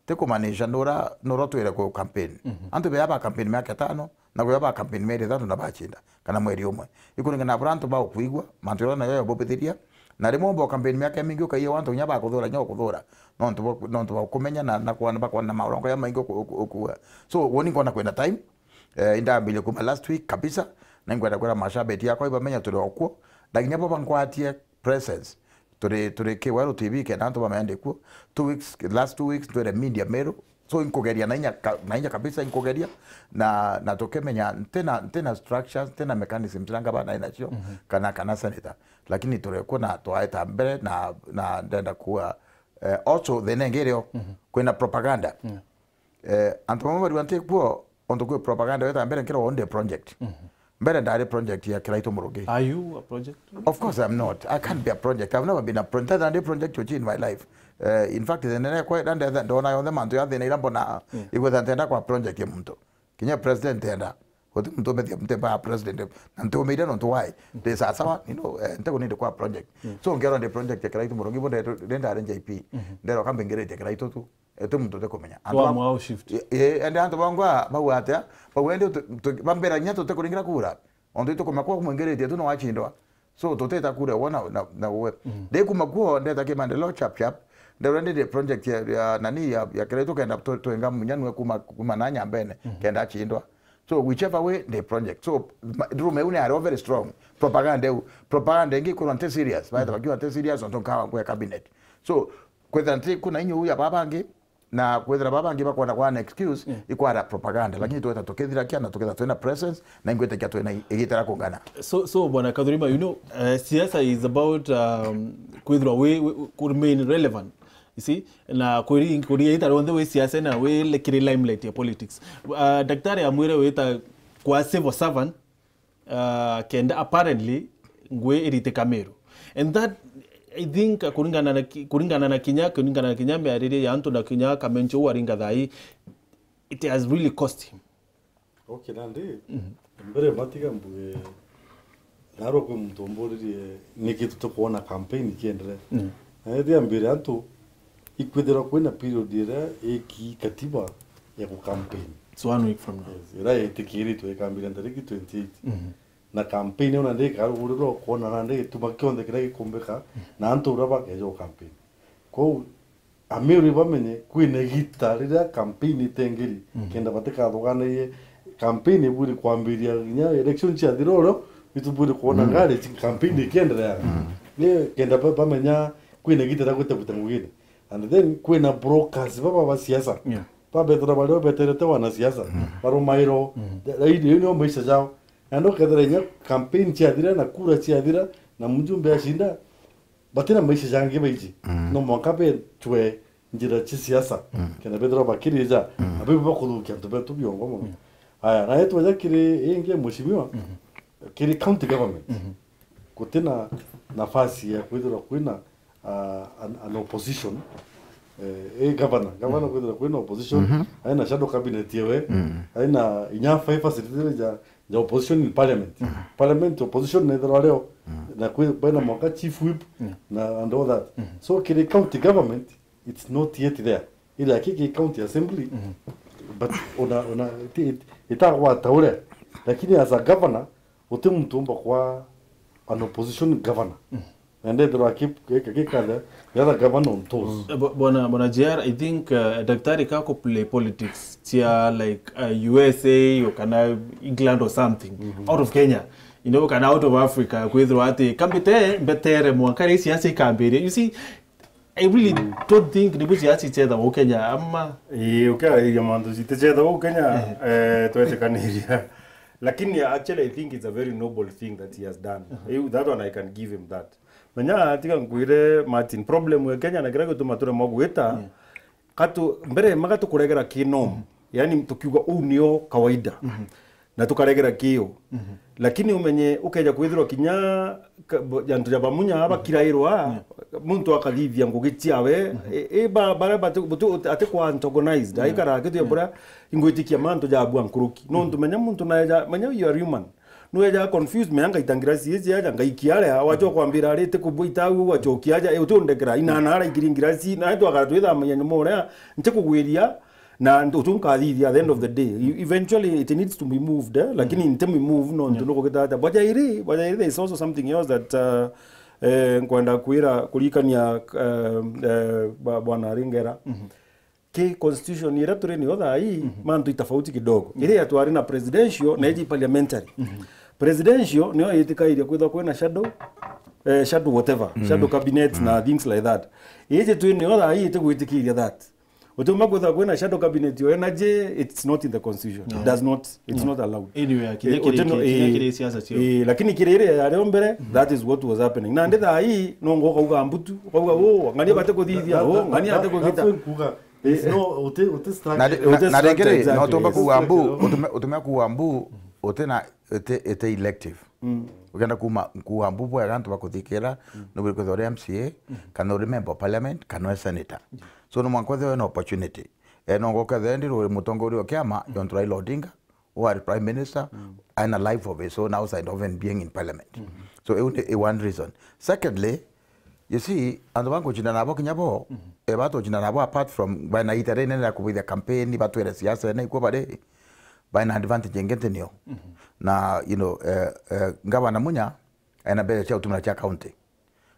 ti kumaanisha nura, nura utwire ku campaign. Mhm. Antu bea ba campaign miaka itano, na kuya ba campaign mieri ithatu na bachinda, kana mweri umwe. Ikuringana na buria antu bagukwigua, mantu jaria nayo yabubithiria. Na rimwe umba campaign miaka imingi ukaiya antu kinya bakuthura, kinya ukuthura. Nontu bwa, nontu bwa kumenya na, na kwana, bakwana na marongo ya maingi uku-, uku-, ukuga. So, woni nkona kwina time, eh, indambirie kuma last week kabisa, na inkwenda kwira mashabiki yakwa ibamenya turi okuo. Na kinya bo bankwatie presence. Turi, turi Kiweru T V kenda antu bamenya ndi kuo. Two weeks, last two weeks, twire media Meru. So, inkugeria na inya ka-, na inya kabisa inkugeria. Na, na tukimenya, ntina, ntina structures, ntina mechanisms iria ngavana inacio, Mhm. kana, kana senator. Lakini turi kuo na twaeta mbere na, na ndenda kuga, eh, also the nengireo, Mhm. kwina propaganda. Yeah. Eh, antu bamwe barua nti kuo, ontu kwi propaganda weta mbere nkirwa onde project. Mhm. Mbere ndari project ya Kiraitu Murugi. Are you a project? Of course I'm not. I can't be a project. I've never been a project. Ndari project uchi in my life. Eh, in fact, the nene kwa ndetha ndona yonthe mantu ya thina ira mbona Yeah. igwetha ntenda kwa project ya muntu. Kinya president enda. Uti muntu umethia mte ba president. Na ntumeire nontu why? Ndi sawa sawa, you know, eh, nte kuninde kwa project. Yeah. So ngero ndi project ya Kiraitu Murugi bo ndenda ndari J P. Mhm. Ndero kambe ngirite Kiraitu tu. Ete muntu utikumenya. Antu Wa ba-, mwao shift. Ye-, ye-, ende antu bangwa bau atia, bau ende utu-, tu-, bambira kinya tutikuringira kura. Ontu itukumenya kwa kumwingiritie tu no wachindwa. So, tuteta kura wona na, na uwe. Mhm. Ndikuma kuo, ndeta ki maendeleo chap chap. Ndero ndi project ya, ya nani ya, ya Kiraitu kenda tu-, twenga munya nwe kuma, kuma na nyambene, Mhm. kenda achindwa. So, whichever way, the project. So, ma-, rume une are very strong. Propaganda eu, propaganda ingi kurwa nte serious. Baita Mhm. bakiwa nte serious, onto nkawa kwa cabinet. So, kwethira nti kuna inyu ya babangi, na kwethira babangi bakwona kwa an excuse, Yeah. ikwara propaganda. Lakini tweta tukithirakia na tuketha twina presence, na ingwitikia twina igitera kungana. So, so, Bwana Kathurima, you know, uh, siasa is about, um, kwithirwa we, we, ku remain relevant. You see? Na kuri, kuri ita rionthe we siasa na we le-, kiri limelight ya politics. Uh, daktari amwire wita kwa civil servant, uh, kenda apparently ngui iritika Meru. And that, I think, uh, kuringana na ki-, kuringana na kinya, kuringana na kinya miaririe ya antu na kinya Kamencho uu aringa thai, it has really cost him. Okay, nandi, Mhm. mbere matiga mbuge, narwa kwi muntu umburirie, niki tutikwona campaign ikiendelea? Mm. Na ethia mbere antu, ikwithirwa kwina period iria iki katiba ya ku campaign. It's one week from now. Yes, iria itikiritwe ikambira ntariki twenty-eight. Mhm. Na campaign io nandi ikarugurirwa ukwona nandi gituma kionthe kiria gikumbika, Mhm. na antu uria bakeja u campaign. Kwou, Amiru bamenye, kwina igita riria campaign itengeri, Mhm. kenda batikathuganirie campaign ibwiri kwambiria kinya election ciathira urio, itubwiri kwona Mm. ngari ci campaign ikiendelea. Mm. Ni kenda ba-, bamenya kwina igita ria gwita gwita ngugine. And then kwina brokers baba ba siasa. Yeah. Babethirwa bario beterete wanasiasa, barumairwo. Raini, iu nio maisha jao. Na ndio kethira inya campaign ciathira na kura ciathira na mjumbe ashinda, batina maisha jangi baiji. No mwanka betwe njira cia siasa. Kenda bethirwa bakirija, na biu bakuthukia antu betu biongo mono. Aya, na yetweja kiri ingi mheshimiwa, kiri county government. Gutina nafasi ya kwithirwa kwina, ah, an, an opposition. Eh, eh, governor, governor kwithirwa kwina opposition, aina shadow cabinet yewe, aina inya five facility ja, ja opposition in parliament. Parliament opposition nethirwa rio, na kwi, baina mwaka chief whip, na and all that. So kiri county government, it's not yet there. Ila kiki county assembly, but ona, ona, iti-, iti-, itagwata uria. Lakini as a governor, uti muntu umba kwa an opposition governor. Na ndethirwa aki-, gika, gika the, the other governor on toes. Eh, bo-, bwana, bwana J R, I think, uh, daktari kako play politics cia, like, uh, U S A or kana England or something, out of Kenya, you know, kana out of Africa, kwithirwa ati kambite mbetere mwanka ri siasa ikambiria. You see, I really don't think ni buciasi chetha guu Kenya, ama? Ii, ukiariria mantu citi chetha guu Kenya, eh, twetikaniria. Lakini actually, I think it's a very noble thing that he has done. Iu, that one I can give him that. Menya, tiga nkwire, Martin, problem ya Kenya na kiria gituma turemwa gwita, katu, mbere, magatukuregera ki norm. Yani, tukiuga, "Uu nio kawaida." Na tukaregera kiu. Lakini umenye, ukeja kwithirwa kinya ka-, bo-, antu ja bamunya bakirairwa, muntu akathithia ngugi ciawe, i, i ba-, baria bati-, buti-, uti-, ati kwa antagonized, aikara akitu ya buria ingwitikia mantu ja bua nkuruki. Nontu menya muntu naeja, menya you are human. Nueja confused, menya ngaita ngirasi iji aja, ngaikia aria, wacha kwambira ari, ti kubwita au, wachokia aja, e, uti undekera, inana ara ikiri ngirasi, na twakara twithamanya nyuma uria, nti kugwiria, na ntu nkathithia at the end of the day. You, eventually it needs to be moved, eh? Lakini nti mi move nontu nukugita atia. Bwa jairi, bwa jairi, there is also something else that, uh, eh, nkwenda kwira, kurikania, eh, eh, bwa-, bwana Ringera. Ki constitution iria turi niyo thaa ii, mantu itafauti kidogo. Iria twari na presidential na iji parliamentary. Presidential niyo yitikairie kwithwa kwina shadow, eh, shadow whatever, shadow cabinet na things like that. Iji twi niyo thaa ii itigwitikiria that. Utiumba kwithirwa kwina shadow cabinet yo energy, it's not in the constitution. It does not, it's not allowed. Anyway, kinya Eh, kiri, uti no, kinya eh, kiri siasa cio. Eh, lakini kiri iria yario mbere, that is what was happening. Na ndi thaa ii, no ngo ukauga mbutu, ukauga, "Oh, ng'ani bate kuthithia, oh, ng'ani ate kugita." It's no, uti, uti structure. Na ri-, na, na ringi ri, no tumba kuuga mbu, utume, utume kuuga mbu, uti na, uti, uti elective. Ukenda kuuma, kuuga mbu bwega antu bakuthikira, nubwiri kwithirwa uri M C A, kana uri member of parliament, kana uri senator. So, no mwanka withirwe wina opportunity. Eh, no ngoka thendi ruri mutongoria wa kiama, John Raila Odinga, who are prime minister, and a life of his own outside of even being in parliament. So, iu ni, i one reason. Secondly, you see, antu bangucindana nabo kinya bo, eh, batucindana nabo apart from, bana ita rinene ria kubithia campaign, batwire siasa ene ikwo bari, bana advantage ingi nti nio. Na, you know, eh, eh, Gavana Munya, ena mbeca cia utumira cia county.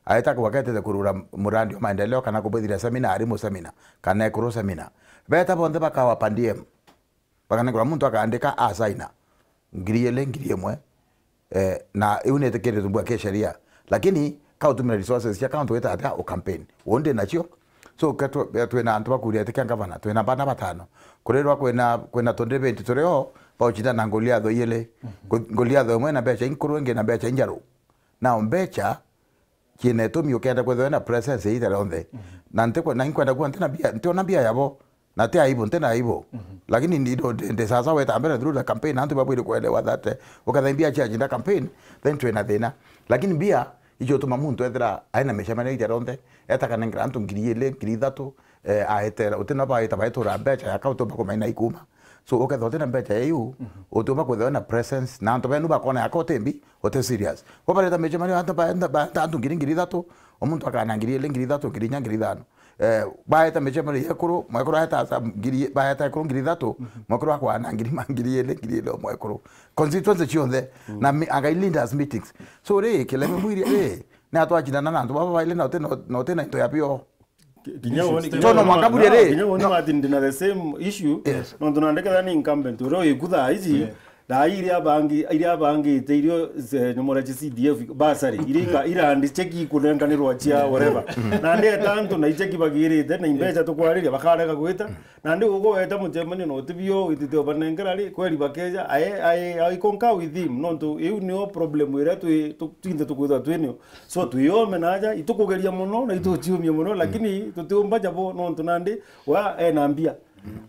Aeta kwake etete kurura murandi wa maendeleo kana kubwithira seminar, arimu seminar, kana ekuru seminar. Beta bonthe bakawa per diem. Bakanengera muntu akaandika asaina. Ngiri ili, ngiri imwe. Eh, na iu ni itikiritwe bua kisheria. Lakini, ka utumira resources cia county wita atia u campaign. Uu ndi nacio. So, ke tw-, twina antu bakuria itikia gavana, twina bana batano. Kurirwa kwina, kwina twenty twenty turi o, baucindana na Goliatho iili. Go-, Goliatho imwe na mbeca inkuru, ingi na mbeca injaru. Now, mbeca, ciina itumi ukenda kwithirwa na presence iita rionthe. Na ntikwe-, na inkwenda kuwa ntina mbia, ntiona mbia yabo. Na ti aibu, ntina aibu. Lakini ndi, ndi, ndi sasa weta mbere through the campaign, antu babwire kuelewa that, eh, ukethira mbia ciachinda campaign, then twina thina. Lakini mbia, icio utuma muntu ethira aina micemanio iita rionthe, eta kanengera antu ngiri ili, ngiri ithatu, eh, aetera, utina baita, baetura mbeca ya kautumba kumaina ikuma. So, ukethirwa utina mbeca ya iu, utiumba kwithirwa na presence, na antu benu bakona yako uti mbi, uti serious. Bo bareta micemanio, antu ba-, ba-, antu ngiri, ngiri ithatu, o muntu akana ngiri ili, ngiri ithatu, ngiri inya, ngiri ithano. Eh, baeta micemanio ya ekuru, mwekuru aeta asa ngiri, baeta ekuru ngiri ithatu, mwekuru akwana ngiri ma-, ngiri ili, ngiri ili o mwekuru. Constituency cionthe, na mi-, akai leaders meetings. So, ri, kileme mwiri, ri, ni atwacindana na antu baba baili na uti na, na uti na into ya bio. Ki-, kinya woni, kinya Tono woni mwaka ma-, buria no, ri? Kinya woni No. Martin, ndina the same issue. Yes. Nontu nandeketha ni incumbent, uria wiku thaa ici, Yeah. Na iria abangi-, iria abangite irio ze-, nyomora cia C D F, bursary, iria ika-, irandi cheki ikunenganirwa cia whatever. Na ndeta antu na icheki bagirite, na imbeca tukwariria, bakarega gwita. Na ndi ugo weta mucemanio na utibio, witite ubanengera ri, kweri bakeja, ae, ae, I concur with him, nontu iu nio problem iria twi, tu-, twinthe tukwithwa twinio. So, twiyome naja, itukugeria muno, na ituciumia muno, lakini tutiumba jabo, nontu nandi, wa, ena mbia.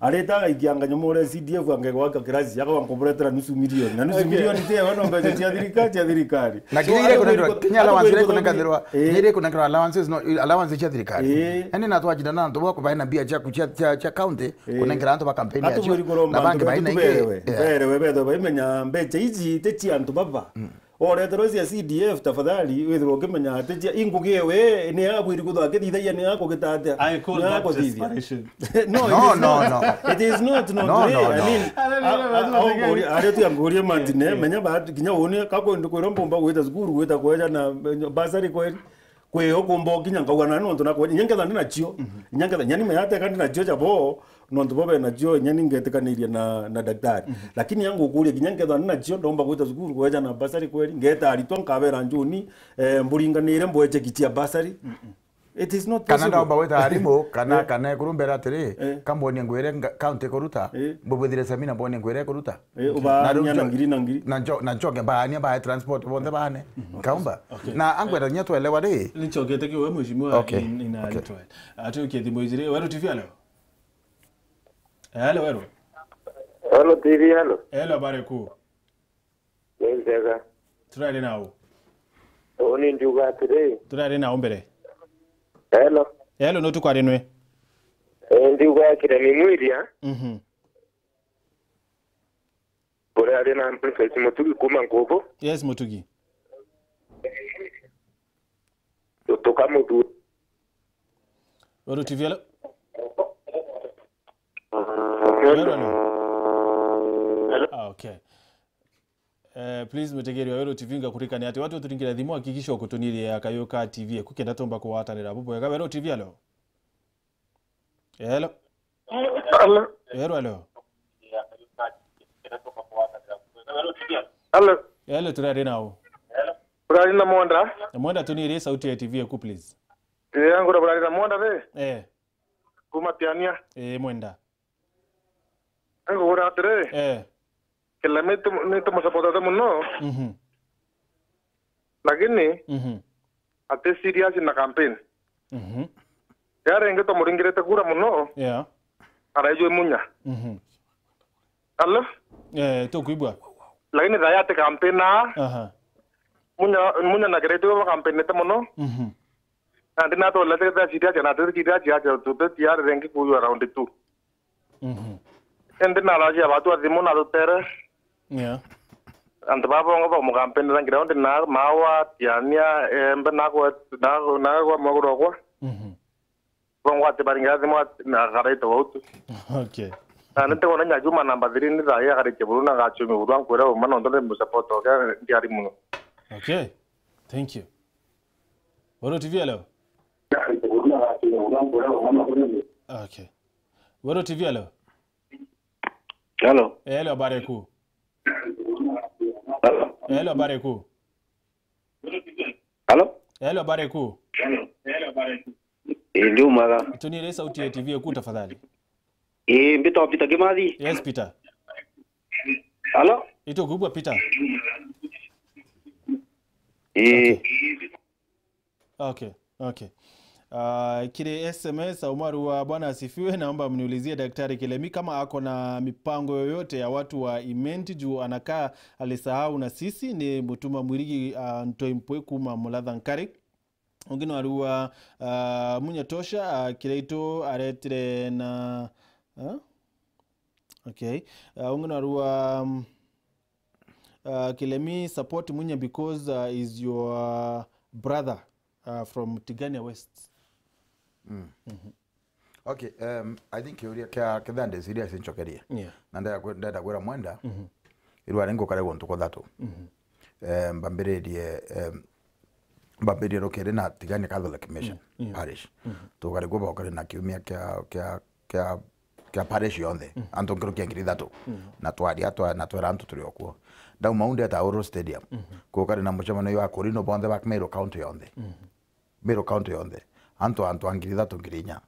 Areta agaikia nganyomore C D F angegwaka kirasi, akauga nkuburetera nusu milioni. Na nusu milioni ti ewe, no mbeca cia thirikari, cia thirikari. Na kinya iria ikunengerwa, kinya allowance iria ikunengerwa, eh, kinya iria ikunengerwa allowances, no, allowance cia thirikari. Eh. Ene na twajindana na antu bako baina mbia cia, cia, cia, cia county, eh, kunengera antu ba campaign ya cio. Na bangi baina ingi, berewe, eh, berewe, betho baimenya mbeca ici ti cia antu baba. Oreterwa cia C D F, tafadhali, withirwa ukimenya ati cia, ingugi ewe, ni abwiri kuthwa akithithagia, ni akugita atia? I call that desperation. No, it is not. No, no, no. It is not, no, no, no. I mean, aria tu angurie Martin, eh, menya ba, kinya uni, ka kwenda kwira mbumba gwita cukuru, gwita kweja na, eh, bursary kweri. Kwi ukumba ukinya nkauga na nontu nakwa, inya nketha ndi nacio, inya nketha, inya ni meyateka ndi nacio jabo, nontu bo be nacio, inya ni ngetikaniria na, na daktari. Lakini ya ngukuria, kinya nketha ndi nacio, ndomba gwita cukuru, kweja na bursary kweri, ngeta aritwa, nkabera njuni, eh, mburinganire mbwe cheki cia bursary. It is not possible. Kana ndomba gwita arimu, kana, eh, kana ekuru mbere atiri, eh, kambonie ngwire nga-, county kuruta, eh, mbubwithire semina mbonie ngwire kuruta. Eh, ubaania na ngiri na ngiri. Na njo-, na nchoke baania bae transport bonthe baane. Nkaumba. Okay. Na angwenda nya twelewa ri. Nichokete kiwe mheshimiwa. Okay. In, in a little while. Atukie thimu ijiri. Weru T V, hello. Hello, Weru. Hello, T V, hello. Hello, habari kuu. Ni njega. Turari nau. Uni ndiuga atiri. Turari nau mbere. Hello. Hello, no tukwari nwe. Eh, ndiuga Kiremi Mwiria. Mhm. Uria ari na Boniface Mutugi kuma Nkubu. Yes, Mutugi. Tukamuthu- Weru T V, hello? Weru, hello? Ah, okay. Eh, please, mutegeri wa Weru T V, ngakurikania ati watu uturingire thimu, hakikisha ukutunirie akayo ka T V eku kenda tumba kugwatanira bubwega. Weru T V, hello? Hello. Hello. Hello, hello. Hello. Hello, turari nau. Turari na Mwenda. Na Mwenda, tunirie sauti ya T V eku, please. Eh, angura burari na Mwenda ri? Eh. Kuma Tiania. Eh, Mwenda. Angura atiri. Eh. Kiremi nitu-, nitumusupportete muno. Mhm. Lakini, mhm, ati serious na campaign. Mhm. Ria ringi twamuringirite kura muno, yeah, araijwe Munya. Mhm. Hello? Eh, tukwigua. Lakini thaa ati campaign aa. Aha. Munya, Munya na Kireti bo campaignite muno. Mhm. Nandi natwolete serious na ati serious aja tuti tayari ringi kuywa round two. Mhm. Indi naracia batu athimu na tutere. Yeah. Antu baba bongo ba mukampeni rangi raundi na mawa, Tiania, Embe, na kwa, na, na kwa maguru kwa. Mhm. Bongo ati baringa athimu ati na karaito gautu. Okay. Na nite kona nya Juma namba three ni thaa ya karite buru na gachumi buru ankwira uma no ndore mu support oke ndiari muno. Okay. Thank you. Weru T V, hello? Okay. Weru T V, hello? Hello. Eh, hello, habari kuu. Hello. Eh, hello, habari kuu. Hello. Eh, hello, habari kuu. Eh, ndi umwega. Tunire sauti ya T V eku tafadhali. Eh, mbitwa Peter Kimathi. Yes, Peter. Hello? Itukwigua, Peter? Eh. Okay. Okay, okay. Ah, kiri S M S, Aumaru wa Bwana asifiwe, naomba mniulizie Daktari Kilemi kama ako na mipango yoyote ya watu wa Imenti juu anakaa alisahau na sisi, ni Mutuma Mwirigi, ah, Ntoi Mpwe kuma Mulatha Nkari. Ungi no arua, ah, Munya Tosha, ah, Kiraitu aretire na, ah? Okay. Ah, ungi no arua, um, Uh, Kilemi, support Munya because, uh, is your brother, uh, from Tigania West. Mm. Mhm. Okay, um, I think kiuria kia, kia Thande serious nchokerie. Yeah. Na ndenda kwi-, ndenda kwira Mwenda, mhm, irwa ringi ukare guntu kuthatu. Mhm. Um, mbambiririe, um, mbambiririe rukiri na Tigania Catholic Mission, mm, yeah, Parish. Mhm. Tukari kuba ukari na kiumia kia, kia, kia, ya parish yonthe, antu nkuruki ya ngiri ithatu. Na twaria, twa-, na twera antu turi okuo. Ndauma u ndeta Uhuru Stadium. Kukari na mucemanio wa Korino bonthe ba Meru County yonthe. Meru County yonthe. Antu, antu a ngiri ithatu, ngiri inya.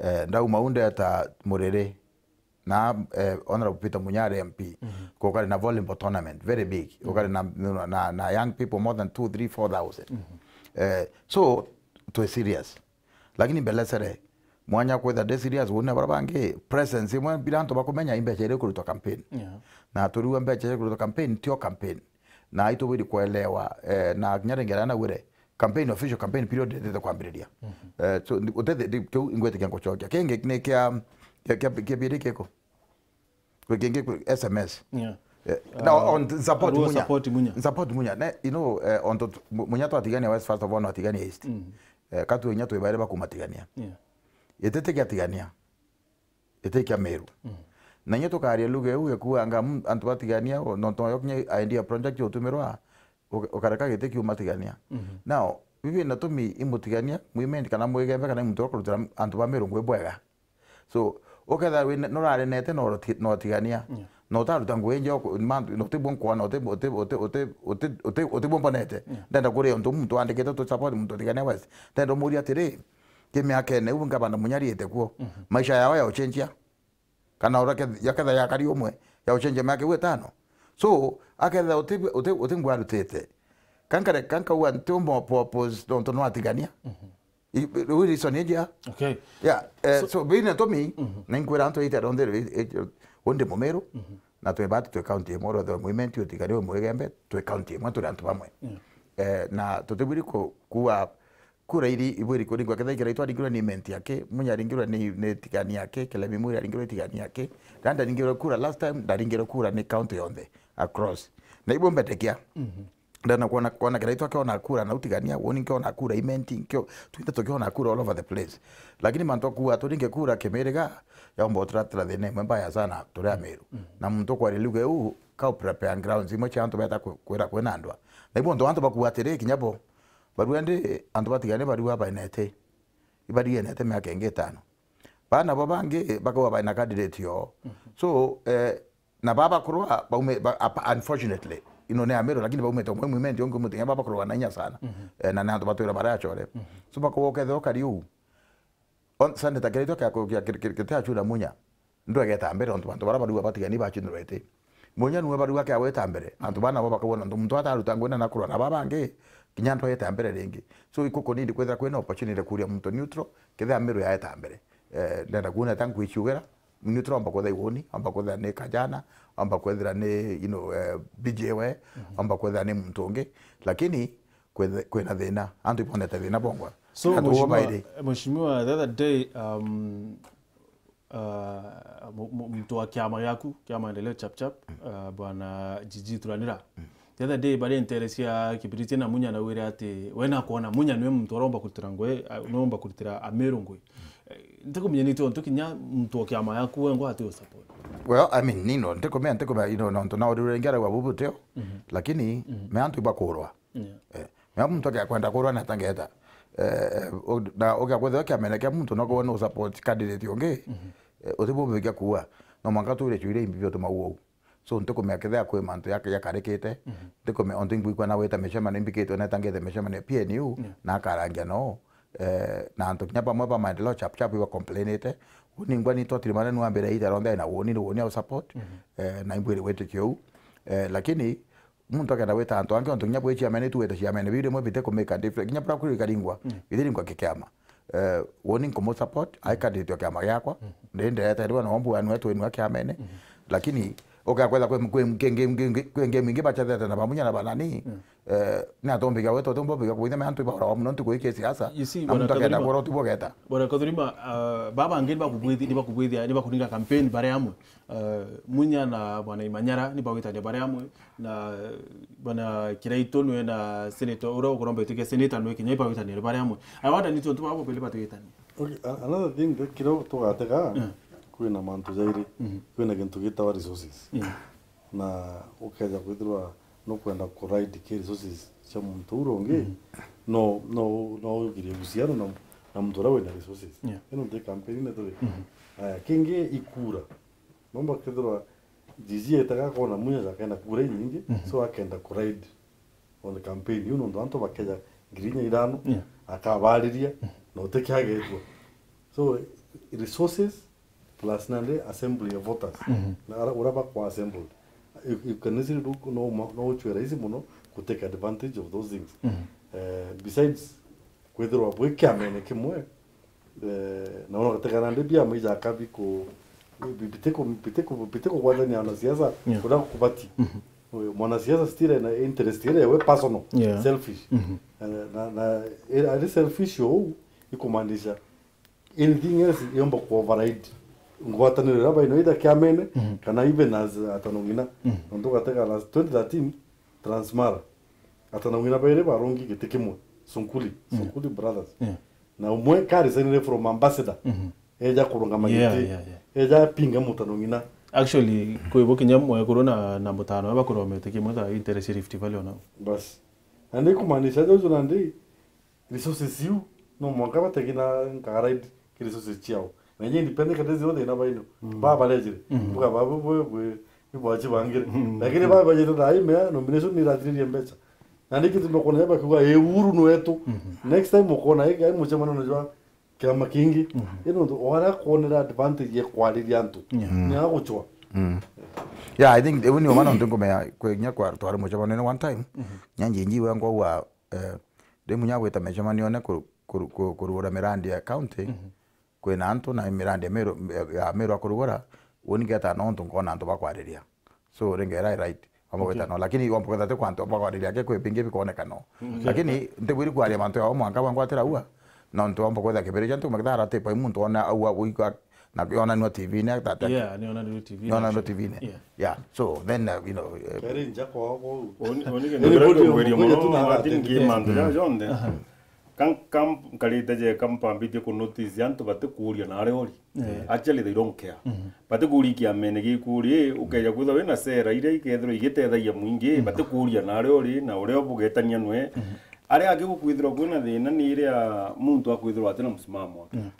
Eh, ndauma u ndeta Muriri. Na, eh, Honorable Peter Munya ari M P. Kukari na volleyball tournament, very big. Kukari na, na, na young people more than two, three, four thousand. Eh, so, twi serious. Lakini mbelesere, mwanya kwitha ndi serious, wone bara bangi, presence imwe bila antu bakumenya imbecha iri kurutwa campaign. Na turiwa mbecha iri kurutwa campaign, tio campaign. Na itubwiri kuelewa, eh, na kinya ringi ria nawire, campaign, official campaign period itete kwambiriria. Eh, so, ndi-, utete, ndi-, kiu ingwitikia ngucokia. Kingi ni kia, kia, kia, kia biri kiko? Kwi kingi kwi S M S. Eh, na on support Munya. Support Munya. Support Munya. Ne, you know, eh, on to, Mu-, Munya twatigania West, first of all, no atigania East. Eh, katu inya twi bairi bakuma Tigania. Itete kia Tigania. Iti kia Meru. Na inya tukaria lugha iu ikuanga, mm, antu batigania, o, no, no, kinya idea project utumirwa, uka-, ukareka giti kiuma Tigania. Now, bibi na tumi imutigania, mwimendi kana mwigembe kana muntu ukurutira antu ba Meru ngui bwega. So, uketha wi ne-, nurarenete na uroti-, na utigania. Na utaruta ngui nje, uku-, mantu, na utibwo nkwana, uti-, uti-, uti-, uti-, uti-, uti-, utibwo mbonete. Ndenda kuria untu muntu wandikite tu support muntu utigania West. Ndenda umuria atiri, ki miakene iu ngabana Munya ariite kuo, maisha yao ya uchenjia? Kana ureke yaketha yakari umwe ya uchenjia miaka iu itano? So, aketha uti, uti, uti ngwa arutite. Kankare, kankauga ntiumba po-, pose nontu nwatigania. I-, i-, reason ijia. Okay. Yeah, eh, so, so, bine tumi, na inkwira antu ite ronthe, eh, eh, undi Mumiru, na twi bati twi county imwe, rothe mwimendi utigania wi mwigembe, twi county imwe, turi antu bamwe. Eh, na tutibwiri ku-, kuwa kura iri ibwiri kuringwa, kethira ikira itwaringirwe ni Imenti yake, Munya aringirwe ni, ni Tigania yake, Kilemi Munya aringirwe Tigania yake, na ndaringirwe kura last time, ndaringirwe kura ni county yonthe across. Na ibu mbetekia. Ndana kuona, kuona kira itwa kiona kura na utigania, woni nkiona kura Imenti, nkio, twinthe tukiona kura all over the place. Lakini mantu akuwa turinge kura kimiriga, yaumba uturatira thina imwe mbaya sana turi Amiru. Na muntu kwari luge u, ka prepare grounds imwe cia antu beta ku-, kwira kwina ndwa. Na ibu antu, antu bakuwa atiri, kinya bo, barua ndi, antu batigania barua bainete. Ibariganite miaka ingi itano. Bana bo bangi bakauga baina candidate yoo. So, eh, na baba kurwa baume, ba, apa-, unfortunately, ino ni Amiru, lakini baumite umwe mwimendi ungi muthenya baba kurwa na inya sana. Eh, na ni antu batwira barachore. So bakauga ukethira ukari uu. On, Sunday ta kiritwa kia ku-, kia kir-, kir-, kir-, kia Achura Munya. Ndwegeta mbere, ontu bantu bara barua batigani bachunirwe iti. Munya niwe barua kia gweta mbere. Antu bana bo bakauga nontu muntu ataruta ngwina na kurwa na baba bangi, kinya ndwegeta mbere ringi. So, ikuku nindi kwithira kwina opportunity kuria muntu neutral, kethira Amiru yaeta mbere. Eh, ndenda kuona ta nkwichiugera, neutral amba kwithira iwoni, amba kwithira ni Kajana, amba kwithira ni, you know, eh, B J we, amba kwithira ni muntu ungi. Lakini, kwithe-, kwina thina. Antu ibonete thina bongwa. So, na tuo Mheshimiwa, bairi. Mheshimiwa, the other day, um, uh, mu-, mu-, muntu wa kiama giaku, kia Maendeleo Chap Chap, uh, Bwana Gigi Turanira. The other day, bari ntere cia Kibiriti na Munya na wire ati, we na kuona Munya niwe muntu uromba kurutira ngui, uh, niwe uromba kurutira Amiru ngui. Eh, ntikumenya ni tontu kinya muntu wa kiama giaku wengwa ati u support. Well, I mean, nino, ntikumenya, ntikumenya, you know, nontu na urire ngiaragwa bubu tio, lakini, me antu ibakurwa. Eh, mea muntu akia kwenda kurwa na tangeta. Eh, u-, na ukia kwithirwa kiamene kia muntu no kuwa no support candidate ungi, eh, utibubikia kuwa. No mwanka twire chuire imbi biotu mau ou. So, ntikumea kethia kwi mantu ya, yakarikite. Ntikumea ontu ingwikwa na wita micemanio imbikitwe na tangete micemanio P N U, na akarangia no. Eh, na antu kinya bamwe ba Maendeleo Chap Chap iba complainite. Uni ngwa ni twatiri manene wambire ita ronthe na woni, ni woni au support. Eh, na imbwire witikia u. Eh, lakini muntu akenda gwita antu angi, ontu kinya bwi chairman, tu gwita chairman, biu rimwe bite ku make a difference. Kinya bura kuri karingwa, bithiringwa kikiama. Eh, woni nkumu support, ai candidate wa kiama giakwa. Ndi ndireta riwa no mbu anwe twinwa kiamene. Lakini, ugakwetha kwi, kwi, kwi, kwi, kwi, kwi game ingi bachethete na bamunya na banani. Eh, ni atombiga wetu, atombiga kuitha me antu ibara wa muno ntuku iki siasa. You see, na muntu akenda kwora utibogeta. Bwana Kathurima, uh, baba angi ni bakubwithi-, ni bakubwithia, ni bakuringa campaign bare amwe. Eh, Munya na Bwana Imanyara ni bawitania bare amwe, na, eh, Bwana Kiraitu nwe na senator, uria ukuromba ituke senator nwe kinya ibawitania bare amwe. I wonder ni tontu babo beli batwitania. Okay, a-, another thing, the, kiria tugatega, kwina mantu jairi, kwina gintu gitawa resources. Na ukeja kwithirwa nukwenda ku ride ki resources cia muntu ura ungi, no, no, no ugirie uhusiano na, na muntu uria wina resources. Yeah. Ino nti campaign ni turi. Mhm. Aya, kingi ikura. Nomba kethirwa Gigi etaga kona Munya akenda kura inyingi, mhm, so akenda ku ride on the campaign. Iu nontu antu bakeja ngiri inya ithano, yeah, akabariria, mhm, na utikiagetwa. So, resources plus nandi assembly ya voters. Mhm. Na ara-, uria bakwa assembled. You, you can easily do, no, no uchwe rahisi muno ku take advantage of those things. Mhm. Eh, besides, kwithirwa bwi kiamene kimwe, eh, na ona gutega nandi biama ijaka biku-, bi-, bitiku-, bitiku-, bitikugwatania na siasa, yeah, kuria kubati. Mhm. Mwanasiasa still ena interest iria we personal, yeah, selfish. Mhm. Eh, na, na, eh, ari selfish ou, ikumaanisha anything else yomba ku override ngwataniro iria baino either kiamene, mhm, kana even as atano ng'ina. Mhm. Nontu gatega last twenty thirteen, Transmara. Atano ng'ina bairi barongi giti kimwe. Sunkuli, yeah, Sunkuli Brothers. Yeah. Na umwe ka resignire from ambassador. Mhm. Eja kurungama, yeah, giti. Yeah, yeah. Eja pinga mutano ng'ina. Actually, kwi bo kinya mwekuru na, na mutano bakuromete kimwe tha interest Rift Valley ona. Bas. Na ni kumaanisha jojo nandi resources iu, no mwanka bategi na nka ride ki resources ciao. Na inye independent kati zio thina baino. Mm. Ba barejire. Mm. Buga ba bwe bwe, bwe, ni bwachi bangire. Mm. Lakini ba bajire na ime, nomination ni ratiririe mbecha. Na niki tumekuona yaba kiuga, "Eh, Uhuru ni wetu." Mhm. Next time ukona, eh, ai muchemano na jwa kiama kingi. Mhm. Ino ndu, wara kuonera advantage ya kwariria antu. Yeah. Mm. Ni aguchwa. Mm. Yeah, I think, even you man, ntu ngomea, kwe nya kwa, twari muchemano one time. Mhm. Nyanji nji wengwa wa, eh, ndi munya gwita micemanione ku-, ku-, ku-, kurugura mirandi ya county, mhm, kwina antu na mirandi ya Meru, ya Meru akurugura, uni ngeta nontu nkona antu bakwariria. So, ringi era right, wamba, okay, gwita no, lakini wamba gwita ti kwa antu bakwariria ke kwi bingi bikoneka no. Okay. Lakini ntibwiri kwaria mantu yao mwanka bangwatira ua, nontu wamba gwita kibiri kia ntu makithara ti pai muntu ona aua uigwa na yonanwa T V-ini, that, that. Yeah, ni yonanwa T V-ini, ni yonanwa actually. T V-ini. Yeah. Yeah. So then, uh, you know, uh, keri nja kwao kwou. Oni, oni ke anybody ndikura kugweria muno, tu na Martin, atendete. Ki mantu, mm, ja jonthe. Aha. Kan-, kam-, nkarite je kampambithie ku notice antu batikuuria na aria uri. Yeah. Actually, they don't care. Mhm. Batikuuria kiamene gikuri, ukeja kwithirwa wina sera iria ikethirwa igitethagia mwingi, mhm, batikuuria na aria uri, na uria bugetania nwe. Mhm. Aria angi gukwithirwa kwina thina ni iria muntu akwithirwa atina msimamo wake. Yeah.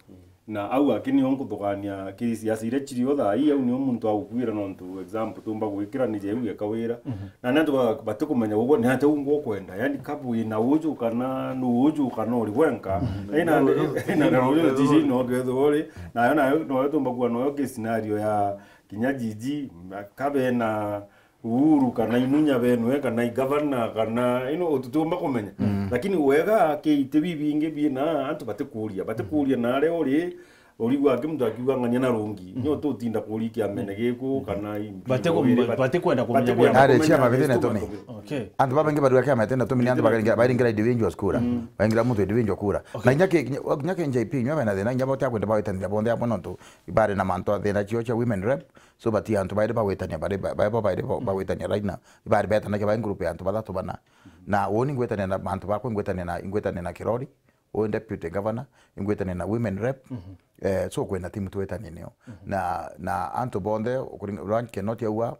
Na au aki nio nkuthugania ki siasa iria cirio thaa ii, au nio muntu agukwira, nontu example tumba gwikira ni jeu geka wira. Mhm. Na ni antu ba-, batikumenya uguo ni atia u ngukwenda. Yani, kabu wina uju kana nu uju kana uri wenka. Mhm. Ina, ina, ina, ina, ina, tiji no kethirwa uri. Nayo, nayo, noyo tumba kuwa noyo ki scenario ya kinya Gigi, kabe na Uhuru kana imunya benwe, kana igavana, kana, you know, tutiumba kumenya. Mm. Lakini wega, ki iti bibingi bina antu batikuuria, batikuuria na aria uri, urigwa aki muntu akiuga ng'ania na rungi. Mm. Nyo tutinda kuuria kiamene giku, kana i-, batiku-, iri, bat-, batikwenda kumenya batikwenda biama. Ari kumenya ciama bithina bitu itumi. Okay. Antu babaingi barua kiama itena itumi ni antu bithina baringira, itumi, baringira individual kura. Mm. Baringira muntu individual kura. Okay. Na inya ki, inya, inya ki N J P, inya bena thina, inya bote akwenda bagwitanira bonthe amwe nontu ibari na mantu a thina cio cia women rep. So, bati antu bairi bagwitania, bari ba-, bari bo bairi bo-, bagwitania right now. Ibari betanagia bari group ya antu bathatu bana. Na uni ngwitania na antu bakwa, ngwitania na, ngwitania na Kirori, uni deputy governor, ngwitania na women rep. Mhm. Eh, so kwina team twitanie nio. Mhm. Na, na antu bonthe, ukuring-, Rank Kenoti aua,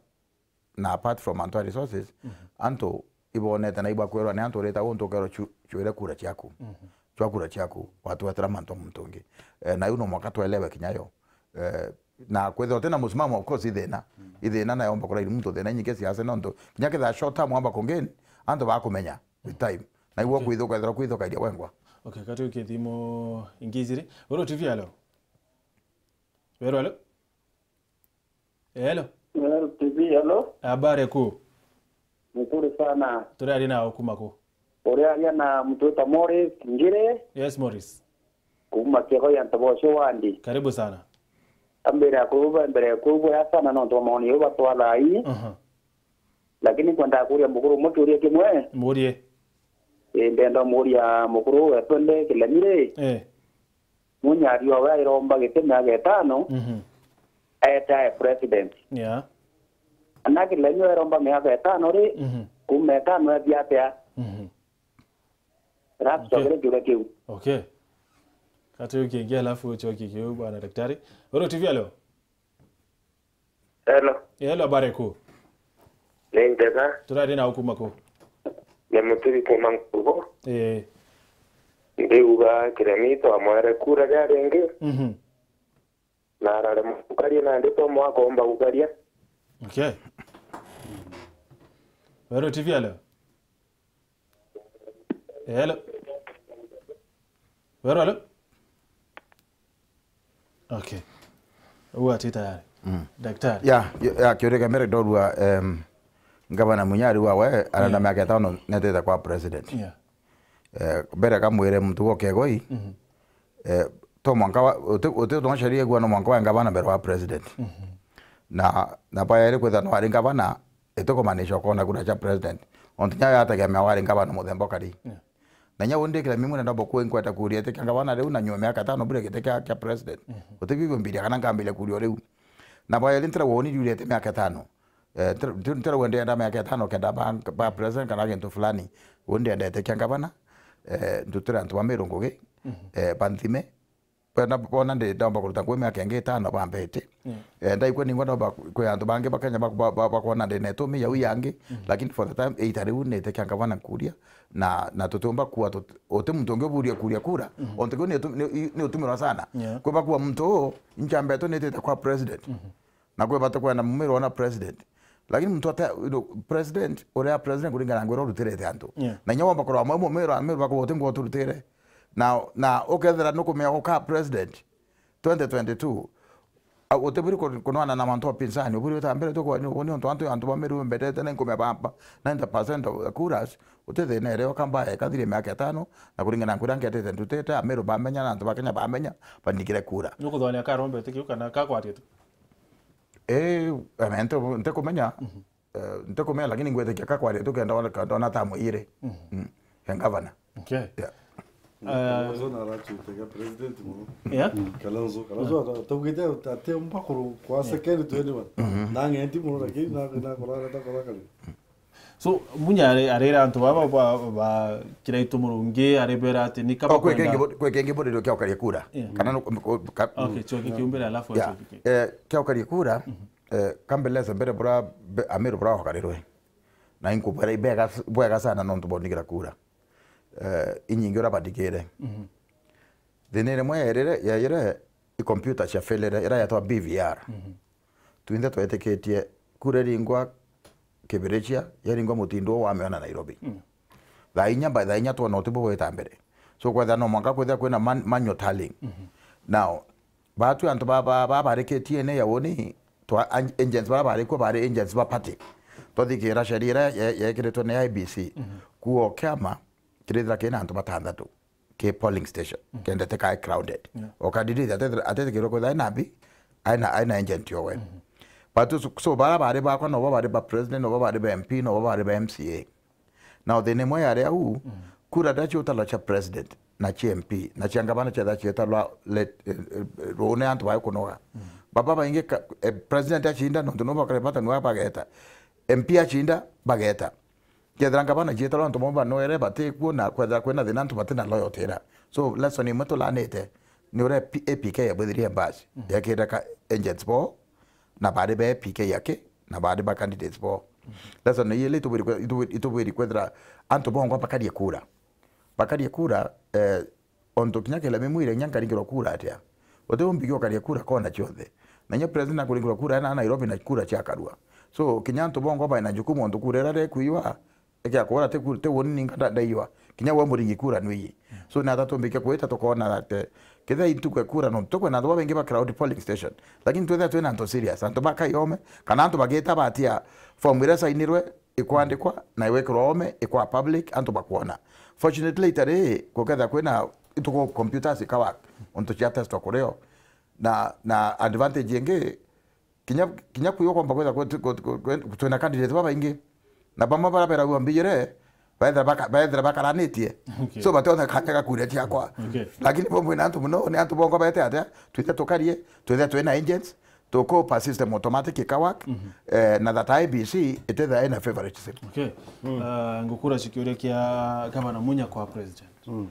na apart from antu a resources, mhm, antu ibonete na ibwa kwirwa ni antu urita untu ukerwa chu-, chwire kura ciaku. Mhm. Chwa kura ciaku, watwetera mantu a muntu ungi. Eh, na iu no mwaka twelewe kinya yo. Eh, na kwithirwa utina musimamo, of course, ithina. Mm. Ithina na yomba kurairi muntu thina inyingi siasa nontu kinya kethira short term wamba kungeni, antu bakumenya with time. Na igua, okay, kwithuka, ethirwa kwithukairia wengwa. Okay, kati ukithimo ingi ijiri. Uru T V, hello. Hello, hello. Hello. Hello, T V, hello. Habari kuu. Nzuri sana. Turaria na ukuma ku? Uraria na muntu witwa Morris Ngiri. Yes, Morris. Kuma Kiego ya Ntoboco wandi. Karibu sana. Ambere ya kuruba mbere ya kuruba ya sana no ntoma maoni yo batwala ai. Aha. Lakini kwenda kuria mukuru umwe kiuria kimwe. Murie. Eh, ndenda muria mukuru wetwende Kilemire. Eh. Munya ariwa we airomba giti miaka itano, mhm, aete ae president. Yeah. Ana Kilemire airomba miaka itano ri, mhm, kuma itano ethia atia? Mhm. Rapture, okay, kire kiuria kiu. Okay. Kati ukiingia alafu uchoki kiu, bwana daktari. Oro T V, hello. Hello. Hello, habari kuu? Ni njega. Turaria na ukuma ku? Ni Muturi kuma Nkugu. Eh. Ndiuga Kiremi twamwere kura ria ringi, Mhm. na araremwa gukaria, nandi twamwa akomba gukaria. Okay. Weru T V, hello. Hello. Weru, hello. Okay. Uu ati tayari. Mm. Daktari. Ya, ya, ya, kiuria kia mbere ndorua, em, Ngavana Munya ariuga we arenda Yeah. miaka itano netete kwa president. Yeah. Eh, mbere kamwire muntu gwa Kegoi, Mhm. eh, to mwanka wa, uti, uti utonga sheria igua no mwanka wa ngavana mbere wa president. Mhm. Na, na bwa eri kwithira no ari ngavana, itikumaanisha ukona kura cia president. Ontu nya yategemea wari ngavana muthemba ukari. Yeah. Na nya undi Kiremi Munya ndomba kuinkweta kuria iti kia ngavana riu na nyuma miaka itano bure giti kia, kia president. Mhm. Utikwigua mbiria kana nkambiria kuria o riu. Na bwa eri ntira woni riurite miaka itano. Eh, ntira, ntira, ntira wendenda miaka itano kenda ba, ba president kana gintu fulani. Undi endete kia ngavana. Eh, ndutire antu ba Meru ngugi. Mhm. Eh, banthime. Bona, bona ndi ndomba kuruta ngugi miaka ingi itano bambete. Yeah. Eh, ndaigua ningwa ndomba kwi antu bangi ba Kenya bak-, ba, ba, bakwona ndi na itumi yau yangi, Mhm. lakini for the time, ita riu nite kia ngavana nkuria, na, na tutiumba kuwa tut-, uti muntu ungi uburia kuria kura, Mhm. ontu kiu ni utu-, ni, ni utumirwa sana. Yeah. Kwi bakuwa muntu uu, inchambetu nitite kwa president. Mhm. Na kwi bata kwenda mumiro ona president. Lakini muntu ate, you know, president, uria president kuringana na ngwira urutirite antu. Yeah. Na inya womba kurwa mwe mumiro, amiro bakuwa uti ngwa uturutire. Na, na ukethira nukumenya guka president twenty twenty-two, a, utiburi ku-, kunwana na mantu opinzani, uburi uta mbere tu kwa ni, ni ontu antu, antu ba Meru mbetete na nkumenya ba, ba ninety percent of the kuras, uti thina ere oka mbae, kathirie miaka itano, na kuringana na ngwira ngetete ndutite, Ameru bamenya, na antu ba Kenya bamenya, bandikire kura. Nukuthwania karombe ti kiu kana kakwaria tu? Eh, I mean, nte-, ntikumenya. Mhm. Eh, ntikumenya, lakini ngwitikia kakwaria tu kenda ona, kenda ona tamu iri. Mhm. Mm. He ngavana. Okay. Yeah. Eh, Kalonzo narachutega president muno. Yeah? Mm. Kalonzo, Kalonzo ata-, ataugite ati, ati umba kuru kwa Yeah. second to anyone. Mhm. Na ng'enti muno, lakini na, na kurara ta kora kari. So, Munya ari-, arira antu baba ba, ba Kiraitu Murungi, aribera ati ni kaba Oh, kwi kingi kwenda bu-, kwi kingi buririo kia ukaria kura. Yeah. Kana no, ku-, ka-, Okay, choki kiumbira alafu Yeah. achoki ki. Eh, kia ukaria kura, Mhm. eh, kambeleze mbere bura, be-, Ameru bura wakarirwe. Na inkubwera ibega, bwega sana nontu bonigira kura. Eh, inyingi ura bandikire. Mhm. Thina rimwe yairire, yaire i computer cia failure, ira yetwa B V R. Mhm. Twinthe twetikitie kura iringwa Kibirichia, yaringwa mutindo wa miona Nairobi. Mm. Thaa inya, by thaa inya twona utibu bwita mbere. So, kwethira no mwanka kwithira kwina man-, manual tallying. Mhm. Now, batwi antu ba, ba, ba bari K T N A ya woni, twa, an-, agents bara bari kuo bari agents ba party. Twathikira sheria ira ye-, yekiritwe ni I E B C. Mhm. Kuo kiama kirithira kina antu batanthatu ki polling station, Mhm. kenda tikae crowded. Yeah. O candidate atethira-, atetikirwe kwithira aina mbi, aina, aina agent owe. Mhm. But so, so bara bari bakwa, nobo bari ba president, nobo bari ba M P, nobo bari ba M C A. Now, thina imwe yari au, Mhm. kura nda cia utalo cia president, na cia M P, na cia ngavana cietha cietha rwa let, eh, eh, rune antu bae kunoga. Mhm. Baba baingi ka-, eh, president acinda, nontu nobo bakare bata nwa bageta. M P acinda, bageta. Kethira ngavana cietharwa antu bamwe banoere batikuo na kwethira kwina thina antu batina loyalty ira. So, lesson imwe tulanite ni uria P-, A P K yabwithirie basi, Mhm. yekire ka agents bo, na bari ba A P K yake, na bari ba candidates bo. Mhm. Lesson iyi ile itubwiri kwe-, itubwiri, itubwiri kwethira antu bongwa bakarie kura. Bakarie kura, eh, Ontu kinya kila mimwire, inya nkaringirwa kura atia? Uti umbikia ukaria kura kona cionthe. Na inya president akuringirwa kura na Nairobi na kura cia karua. So, kinya antu bongwa baina jukumu ontu kura ira rekuiwa, ikia kura ti ku-, ti woni ninka nda-, ndaiwa. Kinya we muringi kura nwiyi. So, na tata tumbikia kwita tukona that, eh, kethira intu kwe kura no, tukwena antu babaingi ba crowd polling station. Lakini twethira twina antu serious, antu ba kaiome, kana antu bagita batia form ira sainirwe, ikwandikwa na iwekirwa ome, ikwa public, antu bakwona. Fortunately, itari, kukethira kwina ituko computers ikawak, untu cia testwa kurio. Na, na advantage ingi, kinya, kinya kwiyo kwamba kwetha kwe-, kwe-, kwe-, kwe-, twina candidate babaingi. Na bamwe bara beragua mbijire, baethira baka-, baethira bakaranitie. Okay. So, bationa kanya ga kuria ciakwa. Okay. Lakini bo mwina antu muno, ni antu bongo bete atia, twithe tukarie, twithe twina agents, tukupa system automatic ikawak, Mhm. eh, na that I E B C itethira ina favoritism. Okay. Mm. Ah, ngukura cikiuria kia Gavana Munya kwa president. Mm.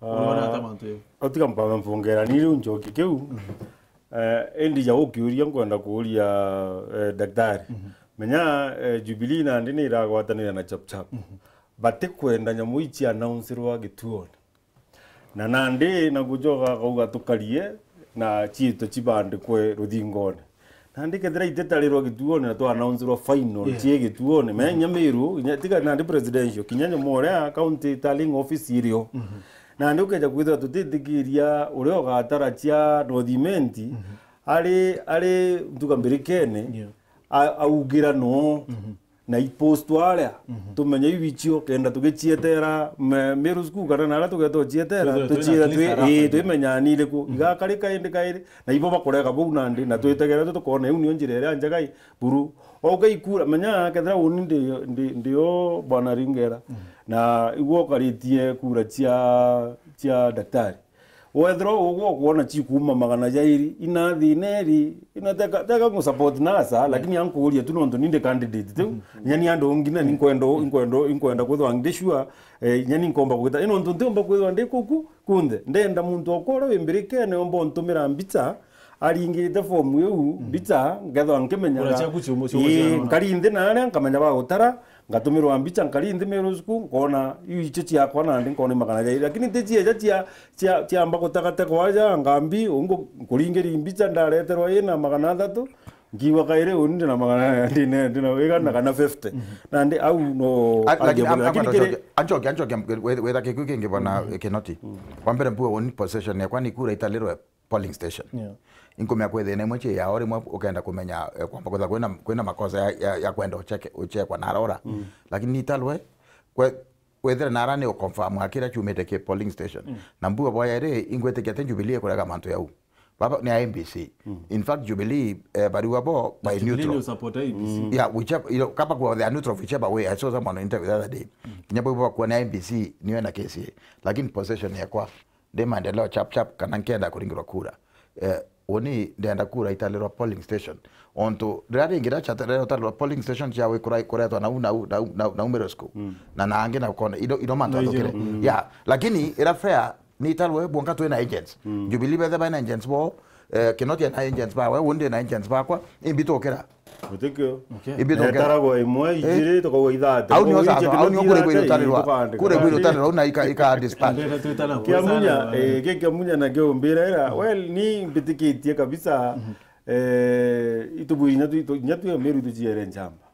Urona ata mantu yau? Utiga mpambe mfungera ni riu njoki kiu. Mhm. Eh, indi ja ukiuria nkwenda kuuria, eh, daktari. Mhm. Menya, eh, Jubilee nandi ni iragwatanira na Chap Chap. Mhm. batikwenda nyamu ici announcerwa gituone. Na nandi na gucoka akauga tukarie na ciitwe cibandikwe ruthingone. Nandi kethira ititarirwa gituone na twa announcerwa final Yeah. cie gituone, menya Meru, inya tiga nandi presidential, kinya nyamu uria county tallying office irio. Nandi ukeja kwithira tutitikiria uria ugatara cia North Imenti, ari, ari ntuga mbirikene, Yeah. a-, augira no. Na ipostwa aria, tumenye iu icio, kenda tugicietera me-, Meru School kana naria tugeeta ucietera, Twithirwe twina tucietha at least twi-, a rough ii, idea. Twimenyaa ni iriku igakarika indi kairi, na ibo bakurega bau nandi, na twitegere tu tukona iu nio njira iria njega i buru. Wauga ikura, menya kethira uni ndi, ndi, ndio Bwana Ringera, na igwe ukaritie kura cia, cia daktari. Wethirwa ugwe ukwona cikuuma magana jairi, ina thina iri, ina teka, teka ngu support NASA, lakini ankuuria tu nontu ni ndi candidate tiu. Inya ni andu ngina ni nkwenda, nkwenda, nkwenda kwithwa ndi sure, eh, inya ni nkomba kwita. Ino ntu ntiumba kwithwa ndi kuku kunthe. Ndenda muntu okwa uria wi mbirikene omba untumira mbicha, aringirite form iu, mbicha, nkethwa nkimenyaga. Ura ciaku ciumu, ciumu Ii, ciaona. Nkari nthi na aria, nkamenya ba gutara, ngatumirwa mbicha, nkari nthi Meru School, nkona iu icio ciakwa nandi nkona i magana jairi. Lakini ti cieja cia, cia, ciamba gutagategwa aja ngambi, ungu nkuringiri mbicha ndareterwa ina magana athatu, nkiigua kairi uni ndi na magana, ndi na, ndi na igana kana fifty. Nandi au no A-, lakini am-, lakini am-, kiri anchoke, anchoke, anchoke, we-, wetha kiku kingi bwana Kinoti. Wa mbere mpuga uni possession yakwa ni kura italirwe polling station. Yeah. Inkumenya kwi thina imwe cie yao, rimwe ukenda kumenya, eh, kwamba kwitha kwina, kwina makosa ya, ya, ya kwenda ucheke-, uchekwa na arora. Lakini nitalwe, kwe-, wethire nara ni uconfirm akira ciumite ki polling station. Na mbuga bwa yeri, ingwitikia ati Jubilee ikurega mantu yau. Baba ni a M B C. In fact, Jubilee, eh, bariwa bo by Jubilee neutral. Ni usupport A M B C. Yeah, whichever, you know, kaba kwa they are neutral whichever way. I saw someone on interview the other day. Kinya bo kwa ni a M B C, niwe na K C A. Lakini possession yakwa ndi maendeleo chap chap kana nkenda kuringirwa kura. Eh, uni ndenda kura italirwa polling station. Ontu riria ringi riria ciatalirwa polling station ciawe kura-, kuretwa nau, nau, nau, nau, nau Meru School. Na nangi na kona, ido, ido mantu athukire. Yeah, lakini ira fair ni italwe bwonka twina agents. Jubilee bethe baina agents bo, eh, Kinoti ena agents bawe, undi na agents bakwa, imbi tukira. Utikio. Okay. Imbi tukira. Netaragwa imwe, ijiri, tukauga ithate. Au nio sasa, au nio kure bwiri utarirwa. Kure bwiri utarirwa, au na ika, ika disperse. Ndenda twitana. Kia munya, eh, kia, kia munya na kio mbira ira. Well, ni mbitikitie kabisa. Eh, itubwiri inya twi-, inya twi Meru tuciere njamba.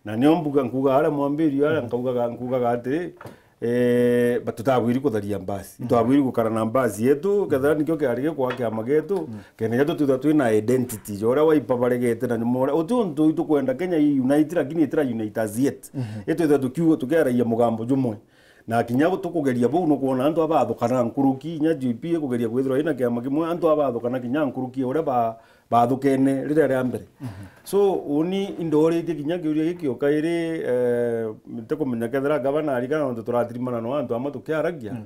Na nio mbuga nkuga aria mwambirio aria nkaugaga, nkugaga atiri, eh, ba-, tutabwiri kutharia mbasi. Itwabwiri gukara na mbasi yetu, kethira nikio kiari gikwa kiama gietu, kenda ja tutwithwa twina identity, ja uria Wiper baregete na nyuma uria. Uti untu itukwenda Kenya i unite, lakini itira unite as yet. Itwithwa tukiuga, tukiaragia mugambo jumwe. Na kinya tukugeria buu, nukwona antu abathukana nkuruki, inya J P ikugeria kwithirwa ina kiama kimwe, antu abathukana kinya nkuruki ya uria ba-, bathukene riria ria mbere. So, uni indoritie kinya kiuria giki o kairi, eh, ntikumenya kethira gavana arikana nontu turatirimana no antu amwe tukiaragia.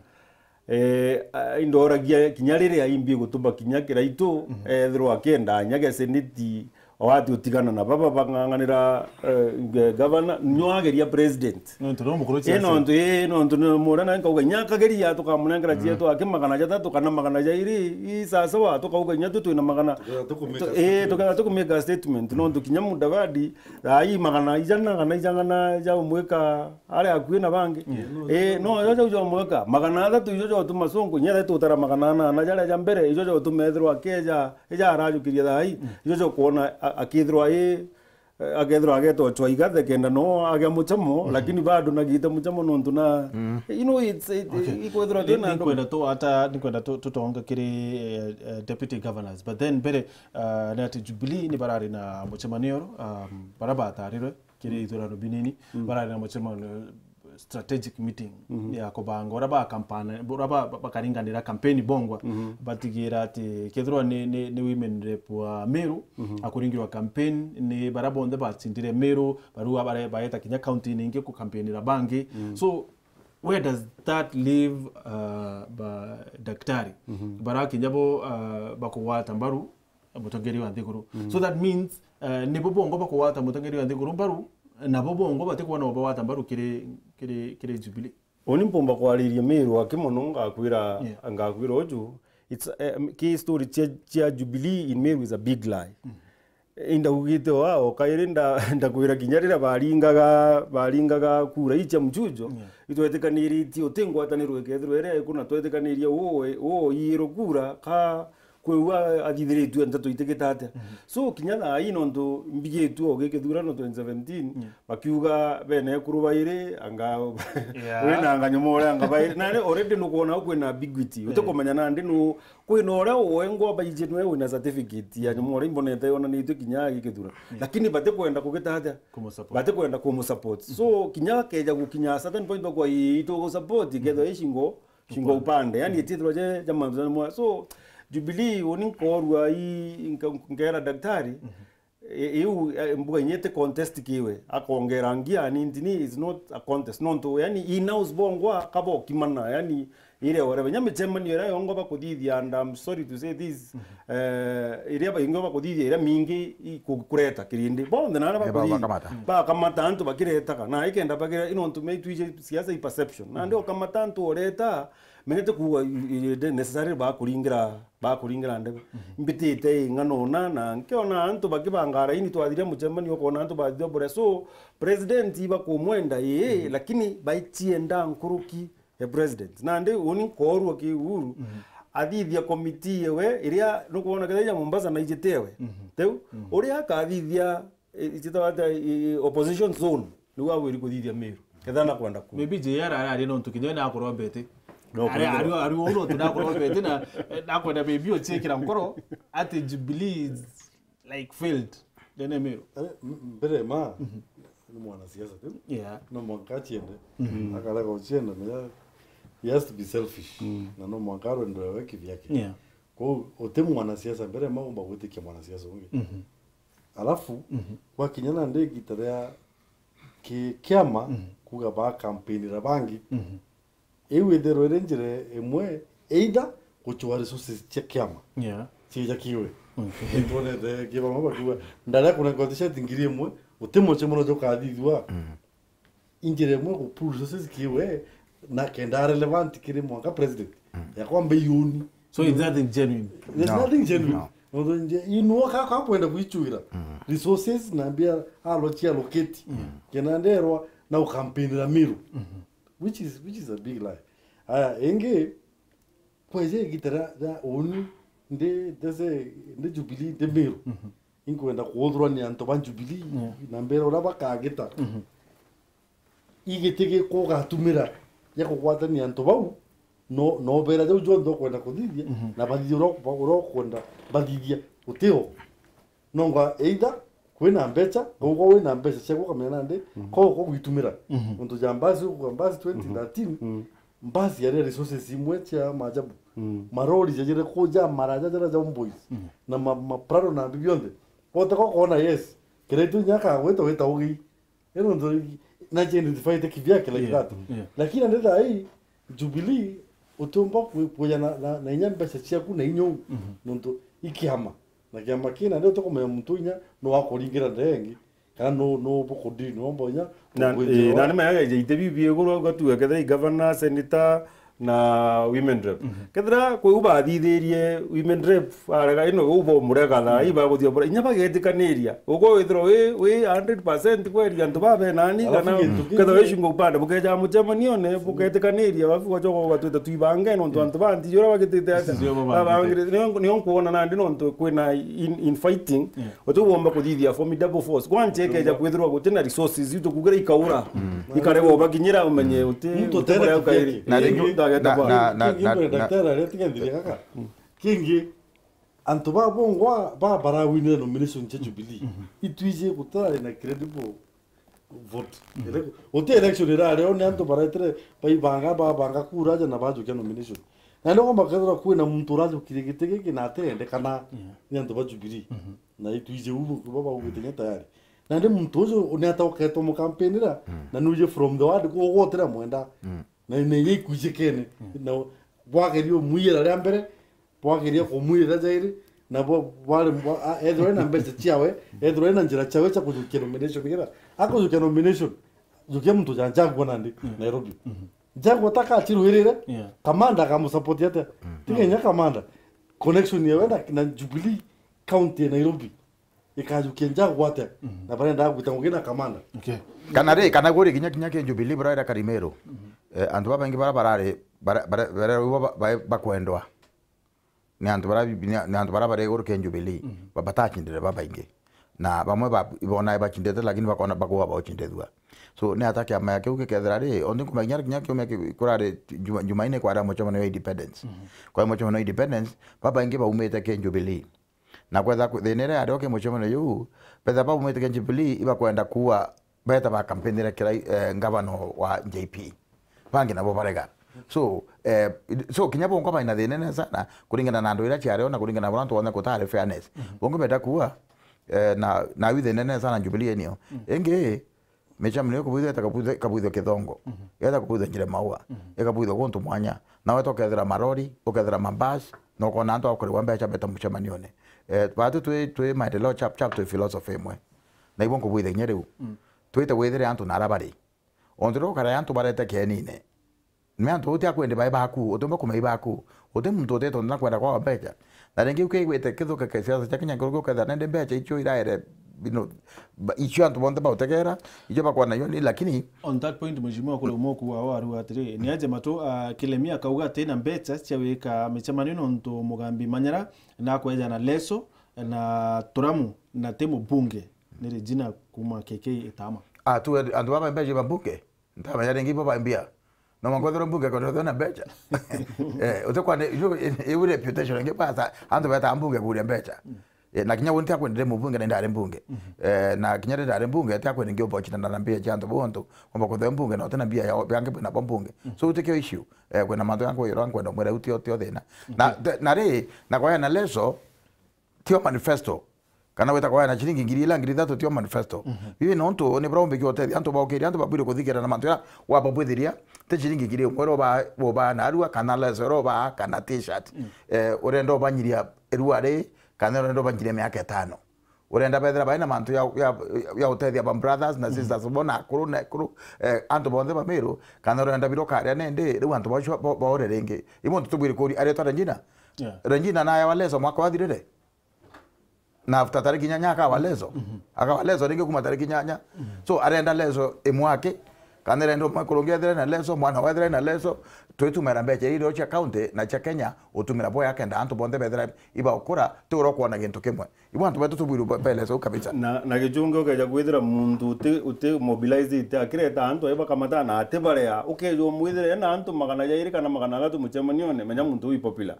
Eh, a-, indoragia kinya riria imbi gutuma kinya Kiraitu, ethirwa akienda anyage seneti, o ati utigana na baba bang'ang'anira, eh, ge-, gavana, nyo ageria president. Nontu no mukuru cia Eh, nontu, eh, nontu ni mura na nkauga, inya akageria tukamunengera cietu aki magana jathatu kana magana jairi, i sawa sawa, tukauga inya tu twina magana. Tuketha tukumake tu-, eh, statement. Tuketha tukumake statement, nontu kinya Mudavadi, thaa ii magana ijana kana ijana ja umwika aria akui na bangi. Eh, no, ijo jau jomwika, magana athatu ijo jotuma sungu, inya thaa tutara magana anana jaria ja mbere, ijo jotuma ethirwa akeja, ija arajukiria thaa ii, ijo jokwona a-, akithirwa i, eh, akethirwa agetwa chwa igathe kenda no agea muchamo, lakini bado nagite muchamo nontu na, you know, it's, it, ikwethirwa twina andu. Nikwenda tu ata, nikwenda tu-, tutonga kiri, eh, eh, deputy governors. But then mbere, ah, ni ati Jubilee ni barari na muchemanio, um, bara batarirwe kiri ithurano binini, barari na muchemanio, strategic meeting ya kubanga uria ba kampana, uria ba, ba, bakaringanira campaign bongwa, batigira ati kethirwa ni, ni, ni women rep wa Meru, akuringirwa campaign ni baria bonthe bacindire Meru, barua bare-, baeta kinya county ningi kukampeinira bangi. So, where does that leave, uh, ba daktari? Bara kinya bo, uh, bakugwata mbaru mutongeria wa nthiguru. So that means, eh, nibo bongo bakugwata mutongeria wa nthiguru mbaru, nabo bongo batikwona ubagwata mbaru kiri, kiri, kiri Jubilee. Uni mpumba kwariria Meru aki mono, ngakwira, ngakwira uju, it's, eh, ki story cia, cia Jubilee in Meru is a big lie. Indaugite o ao, kairi nda-, ndakwira kinya riria baringaga, baringaga kura ii cia mchujo, yeah, itwetikaniiritie uti ngwataniro ikethirwa iria iku, na twetikaniirie uu, uu iirwe kura, ka kwi uu a-, athithiritue nteto itigite atia. Mhm. So, kinya thaa ii nontu mbigitue o gi kithurano twenty seventeen, yeah, bakiuga bene ekuru bairi, anga yeah, wi na anga nyuma uria anga bairi. Nari already nukwona kwina ambiguity. Yeah. Utikumenya nandi nu Kwina uria wengwa baiji nwe wina certificate ya nyuma uria imbonete yonanitue kinya agikithura. Mm. Lakini batikwenda kugita atia? Kumusupport. Batikwenda kumusupport. So, kinya akeja gukinya a certain point bakwa, "Ii, itugusupport, kethwa ii shingo, shingo upande." Upande. Yani, itithirwa je, ja mantu ja mwa. So, Jubilee, uni nkorua ii, nka-, nkera daktari, I-, iu, eh, mbuga inya iti contest kiwe, akongera ngia anintini is not a contest. Nontu, yani, in-house bongwa kabokimana, yani, iria whatever. Inya micemanio iria yongwa bakuthithia, and I'm sorry to say this, eh, iria baingwa bakuthithia iria mingi i ku-, kureta kirindi. Bonthe na aria eh, ba-, bakuthithia, bakamata, bakamata antu bakiretaga. Na ikenda bagira, nontu me itwije siasa i perception. Nandi ukamata antu ureta, menya ti kuuga i-, i-, i-, necessarily bakuringira bakuringira ndebe. Mhm. Mbitite ii ng'ana una, na nkiona antu bakibanga raini, twathiria mucemanio, ukona antu bathithua buria. So, president ibakumwenda, ii, mhm, lakini baicienda nkuruki ya president. Nandi uni nkoorua ki Uhuru, mhm, athithia committee yewe, iria nukwona kethira ya Mombasa na ijite ewe. Mhm. Teu, mhm, uria akathithia I-, ititawa atia, i-, i-, opposition zone, niu agwiri kuthithia Meru. Ketha nakwenda ku. Maybe J R araria nontu kinya we nakurombete. No, ari, kuthithia. Ari, ari uu nontu nakurombete na, eh, nakwenda maybe uciikira nkoro ati Jubilee is, like, failed. Ndene Meru. Eh, m-, mbere ma, mhm, ni mwanasiasa tu. Yeah. No mwanka aciende. Mhm. Akarega ucienda, na ya-, he has to be selfish. Mm. Na no mwanka arwendere we kivyake. Yeah. Kwou, uti mwanasiasa mbere ma umba gwitikia mwanasiasa ungi. Mhm. Alafu, mhm, gwakinya nandi igita ria ki-, kiama, mhm, kuuga bakampeinira bangi. Mhm. Iu ithirwa iri njira imwe, either gucua resources cia kiama, yeah, cija kiwe. Okay. Nitwonete kibama bakiuga, ndaria kunenka t-shirt ngiri imwe, uti mucemanio jukathithua. Mm. Injira imwe ku pull resources kiwe, na kenda relevant kiri mwanka president. Mm. Ya kwamba iuni. So it's nothing genuine. There's, no, nothing genuine. No. Nontu nje, inua ka, ka kwenda kuichuira. Mm. Resources na mbia alo cia allocate. Mm. Kenda nderwa na ukampeinira Meru. Mm-hmm. Which is, which is a big lie. Aya, ingi, kweje igita ria, ria uni, ndi, ndese, ndi Jubilee, ndi Meru. Mm-hmm. Inkwenda kuuthurwa ni antu ba Jubilee, yeah, na mbere uria bakagita. Mhm. Igiti gikwa ugatumira gia kugwatania antu bau, no, no beera jau jonthe ukwenda kuthithia, mhm, na bathithia uria, uria ukwenda bathithia utio. Nonga either kwina mbeca, ugwa wina mbeca ciaku ukamenya nandi, mhm, ko, ko gwitumira. Mhm. Untu ja mbasi, ukuga mbasi twenty thirteen, mhm, mbasi yari resources imwe cia maajabu. Mm. Marori jajire kuja maraja jara ja Homeboys. Mm. Na ma, ma Prado na mbi bionthe. Wote ko kona, yes. Kira itu inya kagwita wita ugi. Ino ndo na je identify te kivyake like, yeah, that. Yeah. Lakini ndio thaa hii Jubilee utumba ku-, kuja na, na, na inya mbeca ciaku na inya u. Mhm. Nontu ikiama. Na kiama kina ndio tukumenya muntu inya no akuringira ndengi. Kana no, no bukudiri, no mbonya. Na, eh, na ni maya ite bibi iguru, ugatua kethira i governor, senator, na women rep. Mhm. Kethira kwi u bathithirie women rep, arega ino u bomurega thaa, mm, ibaguthia bura. Inya bagetikaniria. Ugo withirwa wi, wi hundred percent kweri antu babe nani, alafu kana gintu kingi, kethira wi shingo upande, bukeja mucemanio ne, mm, bugetikaniria, alafu ugacoka ugatwita twibange, nontu, mm, antu banti jura bagitite ati. Babangire, nio, nio nkuona nandi nontu kwina in, in fighting. Yeah. Uti womba kuthithia formidable force. Kwanza ikeja kwithirwa guti na resources, itu kugira ikaura. Mm. Ikarega ubakinyira umenye uti, muntu uti utere kuria ukairi. Na ringi, ndageta na, kwa. Na, na, kingi na, mbere na daktari aria tiga nthire gaka. Mm. Kingi, antu ba bongwa ba barawinire nomination cia Jubilee. Mhm. Itwije gutari na credible vote. Mhm. Ele-, uti election irari, ni antu baretire baibanga, babanga kura aja na bajukia nomination. Na ndio kwamba kethira kwina muntu urajukire giti giki na atirendekana, yeah, ni antu ba Jubilee. Mhm. Na itwije u kuba baugite nya tayari. Na ndi muntu uju ni atauketwo mukampeinira, mm, na nuje from the word kugotira mwenda. Mm. Na ni ye ikwijikene. Mm. Na bwagerio mwiyira ria mbere, bwageria kumwirira jairi, na bwa-, bwari bwa-, a-, ethirwa ena mbeca ciawe, ethirwa ena njira ciawe cia kujukia nomination, nigetha akujukia nomination, jukia muntu ja Njagua nandi, mm, Nairobi. Mhm. Njagua taka achirwirire, yeah, kamanda akamusupport atia? Mm. Tiga inya kamanda, connection yawe na, na Jubilee County ya Nairobi. ikajukia njagu atia? Mhm. Na barenda gwita ngugi na kamanda. Okay. Kana ri, kana guri kinya, kinya ki Jubilee buraira Karimeru. Mhm. Eh, antu babaingi bara barari, bara, bara, bara, ba, ba, bakwendwa. Ni antu bara, ni, ni antu bara bari iguru ki Jubilee. Mhm. Ba, batachindire babaingi. Na bamwe ba, ibona bachindite, lakini bakona bakuga bauchindithua. So, ni ata kiama kiu gikethira ri, onthi nkumenya kinya kiumia ki, kurari Juma-, Jumaine kwari mucemanio wa independence. Mhm. Kwari mucemanio wa independence, babaingi baumite ki Jubilee. Na kwetha ku-, thina iria yari o ki mucemanio juu, betha baumite ki Jubilee, ibakwenda kuua, beta ba campaignire kirai, eh, ngavana wa J P. Bangi nabo barega. So, eh, so kinya bongo baina thina nene sana, kuringana na andu iria ciari o na kuringana na antu onthe kutari fairness. Mhm. Bongo beta kuua, eh, na, na wi thina nene sana Jubilee enio. Mhm. Ingi, micemanio ikabuithwa, eta kabuithwa, ikabuithwa Kithongo. Mhm. Eta kabuithwa Njire Maua. Mhm. Ikabuithwa guntu mwanya. Na weta ukethira marori, ukethira mabasi, na ukona antu akurigwa mbeca beta mucemanione. Eh, batu twi, twi maendeleo chap chap, twi philosophy imwe. Na ibo nkubuitha kinya riu. Mm. Twite withire antu na ara bari. Ontu riu ukara antu barete kienine. Ni antu uti akwendi bai baku, uti mba kumai baku. Uti muntu utete na kwenda kwa mbeca. Na ringi ukigwite kithuke kia siasa cia Kenya, nkuruki ukethira nende mbeca icio iraere, you know, ba-, icio antu bonthe bautegera, icio bakwana yo ni, lakini On that point, Mheshimiwa, kuri umwe kuuga o aruga atiri, ni aje matu, ah, Kilemi akauga ati na mbeca cia wika micemanio nontu Mugambi Manyara na kweja na Leso na Turamu na ti mubunge, ni Regina kuma K K Itama. Ah, tu, antu baba mbeca ba mbunge? Ntamenya ringi bo ba mbia. No mwanka wethirwe mbunge kwenda wethirwe na mbeca. Eh, utikwa ni, iu, iu reputation ingi basa, antu beta mbunge kuria mbeca. Mm. Eh, na kinya wonti akwendire mubunge na ndari mbunge. Mhm. Eh, na kinya ndari mbunge, ati akwenda ngi opportunity na mbia cia antu bontu, omba kuthea mbunge na utina mbia ya, yangi bwina bo mbunge. Mm. So, utikio issue. Eh, kwina mantu yangu yoro nkwenda mwira utio, utio thina. Na, mhm, te-, na ri, na kwaya na Leso, tio manifesto. Kana wita kwaya na ciringi ngiri ila ngiri ithatu tio manifesto. Mhm. Bibi nontu ni bura umbikia utethia antu baukiria antu babwire kuthikira na mantu ya wababwithiria, ti ciringi ngiri imwe ro ba, bo ba na arua kana Leso ro ba kana t-shirt. Mm. Eh, urenda ubanyiria irua ri, kana urenda ubanyiria miaka itano. Urenda bethira baina mantu ya, ya, ya utethia ba brothers na, mhm, sisters bo na akuru na akuru, eh, antu bonthe ba Meru, kana urenda biro karia nende, riu antu bacio bo, baore ringi. Ibo ntu tubwire kuri aretwa Regina. Yeah. Regina na ya wa Leso mwaka wathirire. Na after tariki inyanya akawa Leso. Mhm. Akawa Leso ringi kuma tariki inyanya. Mhm. So, arenda Leso imwake. Kana arenda umwe kurungi ethire na Leso, mwana wethire na Leso. Twitumira mbeca iria cia county na cia Kenya, utumira boya kenda antu bonthe bethira ibaukura, ti ura ukwona gintu kimwe. Ibo antu betu tubwirwe be-, be Leso kabisa. Na, na gichungi ukeja kwithira muntu uti, uti mobilized, akireta antu ai bakamata na ati barea, ukeja umwithire na antu magana jairi kana magana athatu mucemanione, menya muntu ui popular.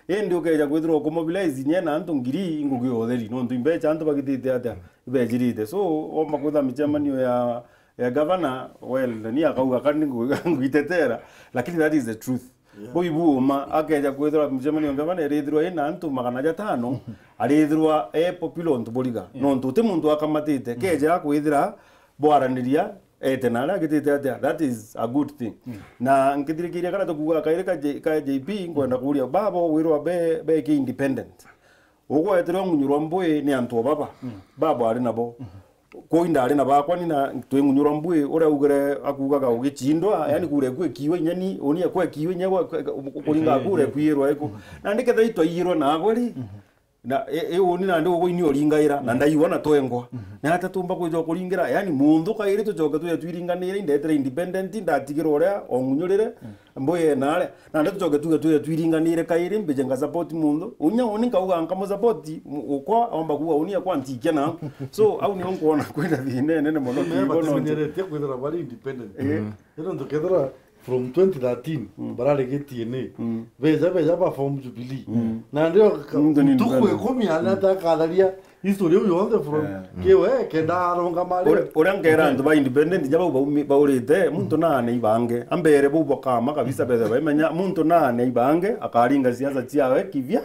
Indi ukeja kwithirwa ukumobilize nye na antu ngiri, ngugi ya utheri, nontu imbeca antu bagitite atia, ibejirite. So, omba kwitha micemanio ya, ya governor, well, ni akauga kani ngu-, nguitetera, lakini that is the truth. Yeah. Bui buma, akeja kwithirwa micemanio ya governor irithirwa ina antu magana jatano, arithirwa e popular ontu buriga. Yeah. Nontu uti muntu akamatite, mm, keja kwithira bwaraniria, ete na aria agitite atia, that is a good thing. Mm. Na nkithirikiria kana tukuuga kairi ka J-, ka J P, nkwenda kuuria, baba wirwa be, be ki independent. Ugweterwa ngunyurwa mbui ni antu o baba. Mm. Baba ari nabo. Mm. Kwi ndari na bakwa ni na twi ngunyurwa mbui, uria ugire akuugaga ugichindwa, mm, yani kure kwi kiwe nyeni, unia kwe kiwe nya kwe, kwe, kuringa, eh, kure, eh, kwirwa iku. Mm. Na ndiketha itwaiyirwa na agwe ri, mm. Na, i, i, uni nandi ugwe ini uringaira, na, mm, ndaiwa na twengwa. Mhm. Na ata tumba kwija kuringira, yani, muntu kairi tucoke twija twiringanire, indetire independent, ndatigirwa uria ongunyurire, mm, mbuye nare. Nandi tucoke twija twija twiringanire kairi, mbije nga support muntu. Unya uni nkauga nkamu support, mu-, ukwa, omba kuuga uni akwa ntikia na. So, au nio nkwona kwina thina nene mono. Mimi kibono nje. Batimenyeretie kwithira bari independent. Eh. Mm. Ino ntukethira from twenty thirteen, mm, barari G T N A. Mm. Beja, beja ba form Jubilee. Mm. Na ndio ka-, muntu ni ntuku independent. Ikumi ana, mm, atakatharia history iu yonthe from, yeah, kiwe, kenda arungama ri. Ure-, uria nkera antu ba independent, ja bau baumi-, baurite, muntu naane ibange. Ambere bau bakama kabisa, bethe baimenya, muntu naane ibange, akaringa siasa ciawe, kivya,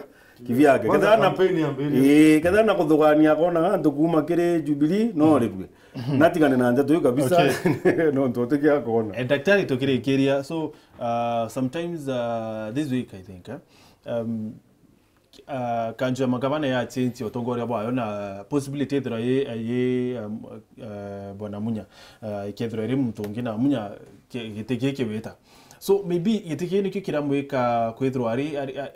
kivyake. Kwanza ketha na campaign yambiririe. Ii, ketha na kuthugania akona antu kuma kiri Jubilee, no, mm, ribwe. Mhm. Natigane na ndeto iu kabisa. Okay. Nontu utikia kona. Eh, daktari, tukirikiria, so, uh, sometimes, uh, this week, I think, eh, um, uh, kanjo ya magavana ya change utongoria bwayo na possibility ithirwa yi, yi, um, uh, Bwana Munya, uh, ikethirwa iri muntu ungi na Munya ki-, giti giki wita. So, maybe giti giki nikio kiramwika kwithirwa ari, ari, ari,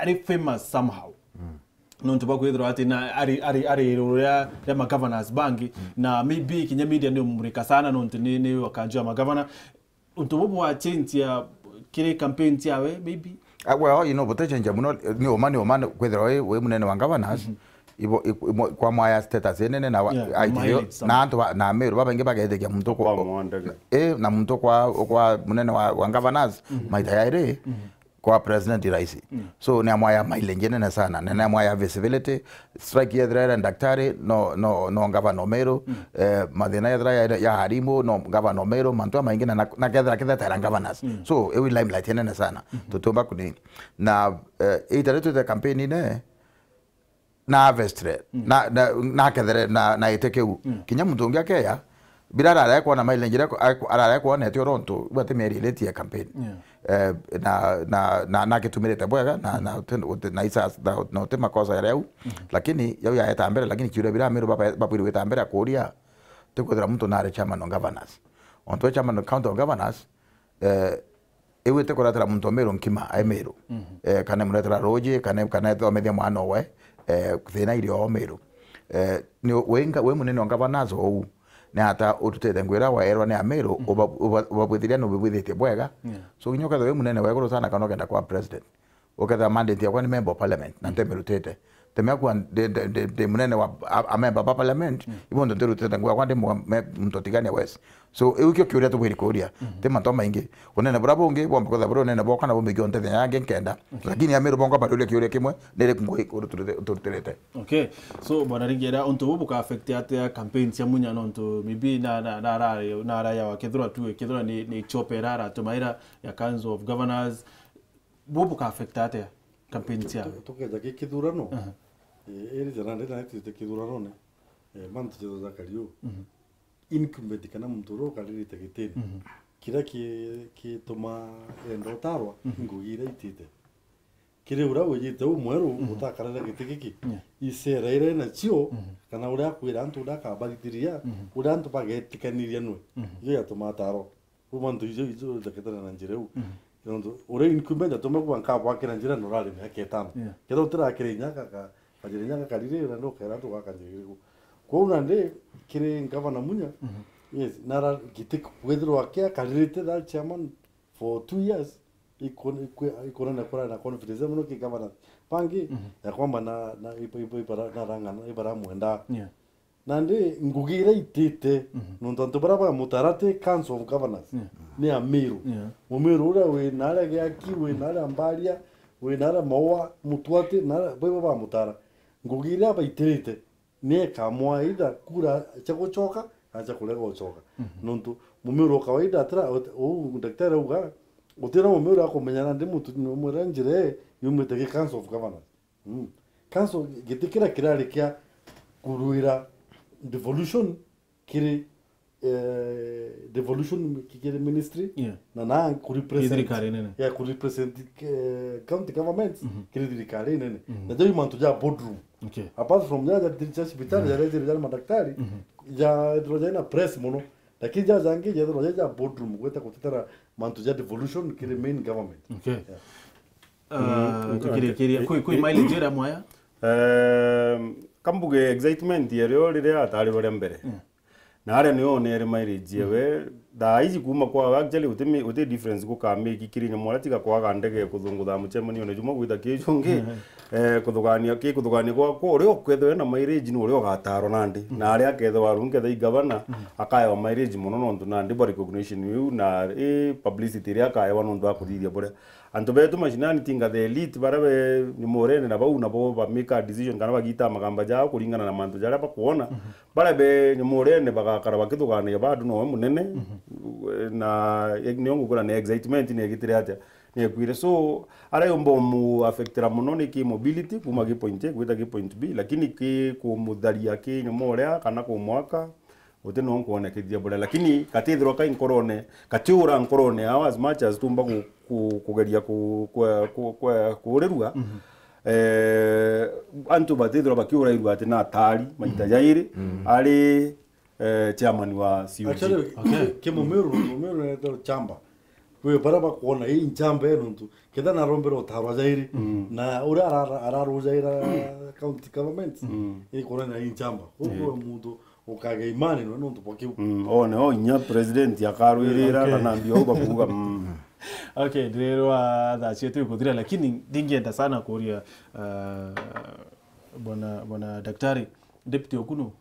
ari famous somehow. Mm. nontu bwa kwithirwa ati na ari, ari, ari iguru ria, ria ma governors bangi, na maybe kinya media ni umurika sana nontu ni, ni wakanju ya ma governor. Untu bubu bwa change ya kiri campaign ciawe, maybe? Ah, well, you know, butechenja muno, ni uma, ni uma, kwithirwa wi, wi munene wa governors, ibo, i-, imo-, kwa mwaya status inene na wa-, Yeah, aitithio, mileage, na antu ba, na Meru babaingi bagethikia muntu kwa, Kwa mwandege. Eh, na muntu kwa, kwa munene wa, wa governors, maita yairi, kwa president raisi. So, ni amwaya mileage nene sana, na ni amwaya visibility. Strike yethira ira daktari, no, no, no governor Meru, eh, mathina yethira ya, ya harimu, no governor Meru, mantu jamaingi na, na, na kethira, kethira tera governors. So, iu i limelight nene sana. Tutiumba kuni. Na, eh, itare twite campaign ine, na harvestre, na, na, na kethere, na, na ite kiu. Kinya muntu ungi akeya, bila arare kwona mileage ira, arare kwonete oro ntu, bwa ti mieri iri tia campaign. Eh, na, na, na, na kitumirite bwega, na, na, uti, uti, na isa, na, na uti makosa yaria au. Lakini, yau yaeta mbere, lakini kiuria bila Meru baba-, babwiri gwita mbere akuria, ti kwithira muntu nari chairman of governors. Ontu we chairman of county of governors, eh, iu iti kuretera muntu o Meru nkima, ai Meru. Eh, kana imuretera ruuji, kana, kana ithomithia mwana owe, eh, thina iri o Meru. Eh, ni winga, wi munene o governors ou, ni ata ututite nguo iria waerwa ni Ameru, uba-, uba-, ubabwithiria ni ubibwithitie bwega. So, kinya ukethirwa wi munene wa iguru sana kana ukenda kwa president, ukethira mandate yakwa ni member of parliament, na ntemirutite. Temea kuwa ndi, ndi, ndi, ndi munene wa a, a member ba parliament, ibo ndo ndirutite nguo yakwa ndi mu-, me-, muntu tigania wes. So, iu kio kiuria tubwiri kuria. Ti mantu maingi. Unene bura bungi, bwomba kwithira buri unene bwokwa na bumbi kio ntethia yangi nkenda. Lakini Ameru bongwa bariuria kiuria kimwe, niri nguo ikuruturite, uturutirite. Okay. So, Bwana Ringera, untu bubu buka affect atia campaign cia Munya nontu maybe na, na, na, na, na raya wa kethirwa tu, kethirwa ni, ni chope ira aratumaira ya Council of Governors, bubu buka affect atia campaign ciawe? Tu-, tukeja ki kithurano, eh, iri jana ndi na itite kithuranone, eh, mantu jetho ja kariu. Incumbent kana muntu uria ukaririte gitini, kiria ki-, kituma enda utarwa, ngugi iria itite. Kiri uria wijite umweru, utakarire giti giki, isera iria nacio, kana uria akwira antu uria akabarithiria, uria antu bagetikaniria nwe, iyo yatuma atarwa. Riu mantu icio, icio iteketana na njira iu. Nontu uria incumbent atuma kuga nkabwakira njira na urari miaka itano. Kethira utirakira inya gaka, kajira inya gakarire, na ndukera antu gaka njira iriku. Kwou nandi, kiri ngavana Munya, yes, nara giti kwithirwa kia karirite that chairman for two years, ikon-, ikwe-, ikonania kurari na confidence mono ki governance. Bangi, ya kwamba na, na iba-, iba-, ibara-, narang'ana, ibaramwenda. Nandi ngugi iria itite, nontu antu baria bamutara ti Council of Governors, ni Amiru. Mumiru uria wi naria Giaki, wi naria Mbaria, wi naria Maua, Mutuati, naria, baibo bamutara. Ngugi iria baitirite, ni ekamwa either kura cia gucoka, kana cia kurega gucoka. Nontu Mumiru wa kawaida atira, ut-, uu daktari auga, utira Mumiru akumenya nandi muntu, umwira njira ii yumite ki Council of Governors. Mm. Council, giti kiria kirari kia kurwira devolution kiri, eh, devolution ki-, kiri ministry, na na kurepresent, thirikari nene. Yeah, kurepresent, eh, county governments kiri thirikari nene. Na jau mantu ja boardroom. Okay. Apart from ja, ja, ja cibitari, ja, ja, ja madaktari, ja, ja, ja na press mono. Lakini ja jangi jethirwa ja, ja boardroom, gwita gutetera mantu ja devolution kiri main government. Okay. Yeah. Ah, tukirikiria, kwi, kwi mileage iria mwaya? Ehm, kambuge excitement ya rio riria atarirwe ria mbere. Na aria niyo onere mileage yewe, thaa iji kuma kwa, actually, uti mi-, uti difference gukamake kiri nyamu aria tiga kwaga ndege kuthungutha mucemanione jumwe gwita ki jungi, eh, kuthugania, ki kuthugania kwa, kwa uria ukethirwa na mileage ni uria ugatarwa nandi. Na aria akethirwa aru nkethirwa i gavana, akaewa mileage mono nontu nandi bwa recognition iu na i publicity iria akaewa nontu wa kuthithia buria. Antu betu mashinani tinga the elite, baria be nyumurene na bau nabo ba make a decision kana bagita magamba jao kuringana na mantu jaria bakwona. Baria be nyumurene bagakara bakithuganagia bado nowe munene. Na e-, nio ngukura ni excitement ni egitire atia, ni ekwire. So, aria yumba umu affectira mono ni ki mobility, kuma ki point A gwita ki point B, lakini ki kumutharia ki nyuma uria kana kumwaka, uti no nkwonekethia buria. Lakini gatithirwa kai nkorone, gatiura nkorone yao as much as tumba ku-, ku-, kugeria ku-, kwe-, ku-, kwe-, kuurirua. Eh, antu batithirwa bakiurairua ati na atari maita jairi, ari, eh, chairman wa C O G. Actually, ki-, ki Mumiru, Mumiru naitwa Chamba. Kwi baria bakwona ii nchamba ii nontu ketha narombera utarwa jairi, na uria arara-, ararujaira county government, ii kwona na ii nchamba. Koguo muntu ukagea imani nwe nontu bwa kiu. Mm, one o inya president akarwirira, okay, kana mbio au bakuuga, mm. Okay, ndirirwa thaa cietu ikuthira, lakini ndingienda sana kuria, uh, bwana, bwana daktari, deputy oku nu?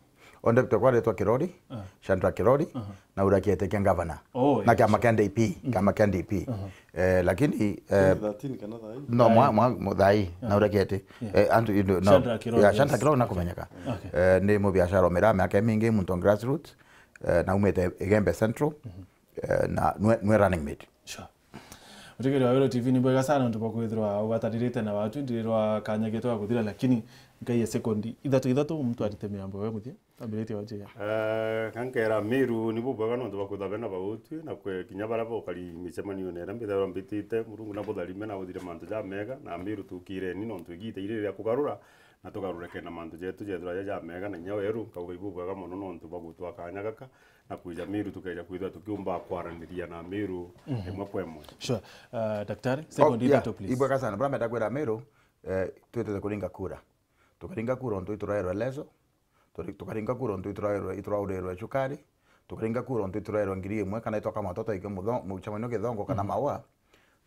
O deputy kwa aretwa Kirori, Shadrack Kirori, na uria kiete kia governor. Oh, na kiama kia D P, kiama kia D P. Eh, lakini, eh, twenty thirteen kana thaa ii? No, mwa, mwa, mwa thaa ii, na uria kiete. Eh, antu, you know, no. Shadrack Kirori, yeah, Shadrack Kirori nakumenyeka. Okay. Eh, ni mubiashara umira miaka mingi, muntu on grassroots, eh, na umite Igembe Central, eh, na nwe, nwe running mate. Sure. Mutegeri wa Wero T V, ni bwega sana nontu bwa kwithirwa ugwatanirite na watu, ndirirwa kanya gitu ga kuthira, lakini nkai ya sekondi ithatu ithatu, muntu arite miambo we muthia, ambiritie wa njia. Eh, kankera Miru ni bubwega nontu bwa kwithirwa bena bautwi, na kwe kinya baria bokari micemanione iria mbithagirwa mbitite, Murungu na butharime na uthire mantu jamega, na Miru tukireni nontu igita iri ria kugarura, na tugarure kenda mantu jetu jethirwa ja jamega, na inya weru, nkauga ibubwega mono nontu bwa gutwa kanya gaka, na kwija Miru tukeja kwithirwa tukiumba kwaraniria na Miru imwe kwa imwe. Sure. Uh, daktari, second, oh, yeah, ithatu, please. Ibwega sana. Bura menda kwira Miru, eh, twitite kuringa kura. Tukaringa kura ontu ituraerwe leso, turi-, tukaringa kura ontu ituraerwe, ituraurirwe cukari, tukaringa kura ontu ituraerwe ngiri imwe kana itwaka matoto ikio mutho-, mucemanio githongo kana maua.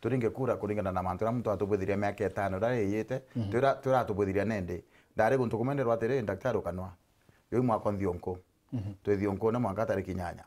Turinge kura kuringana na mantu aria muntu atubwithirie miaka itano iria yiyite, twira-, twiratubwithiria nindi. Ndari guntu kumwe ndirwa atiri, daktari ukanwa. Yoi mwaka nthionku. Twi thionku na mwanka tariki inyanya.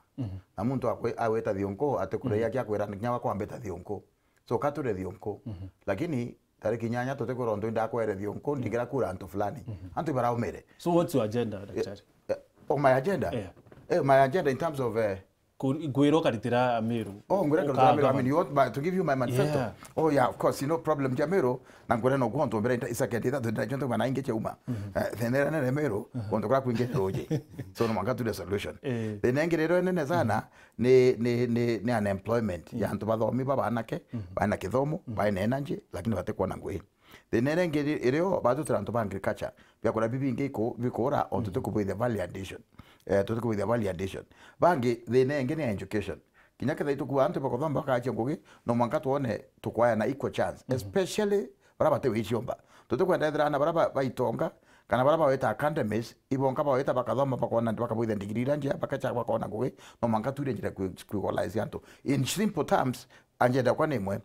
Na muntu akwi-, agwita thionku, atikuraia kia kwira kinya wakwambita thionku. So, ka turi thionku. Lakini tariki inyanya tutikwira untu indakwere thionku, ndingira kura antu fulani. Antu ibaraumire. So what's your agenda, daktari? Eh, oh, my agenda? Yeah. Eh, my agenda in terms of, eh, Ku-, ngwira ukaritira Amiru. Oh, ngwira nkaritira Amiru. I mean, you want my, to give you my manifesto? Yeah. Oh, yeah, of course, you know, problem ja Amiru, na ngwira no guo ntu mbere isa kendi thatu nda jonto bana inge chauma. Eh, thina iria nene Amiru, guntu kura kwingi ruji. So, no mwanka turie solution. Eh. Thina ingi rero nene sana, ni, ni, ni, ni unemployment ya antu bathomi ba banake, bana kithomo, bana energy, lakini batikwona ngui. Thina iria ingi iri-, irio batutira antu ba agriculture, biakuria bibingi iku-, bikura, o tutikubwithia value addition. Eh, tutikubwithia value addition. Bangi, thina ingi ni education. Kinya kethira itukua antu bakuthoma bakachia ngugi, no mwanka twone tukwayana equal chance, especially baria bati wiciomba. Tutikwenda ethira ana baria ba-, baitonga, kana baria bawita academies, ibonka bawita bakathoma, bakona, bakabwithia degree iria njega, bakacha bakona ngugi, no mwanka tuire njira kwi-, kwi-equalize antu. In simple terms, agenda yakwa ni imwe,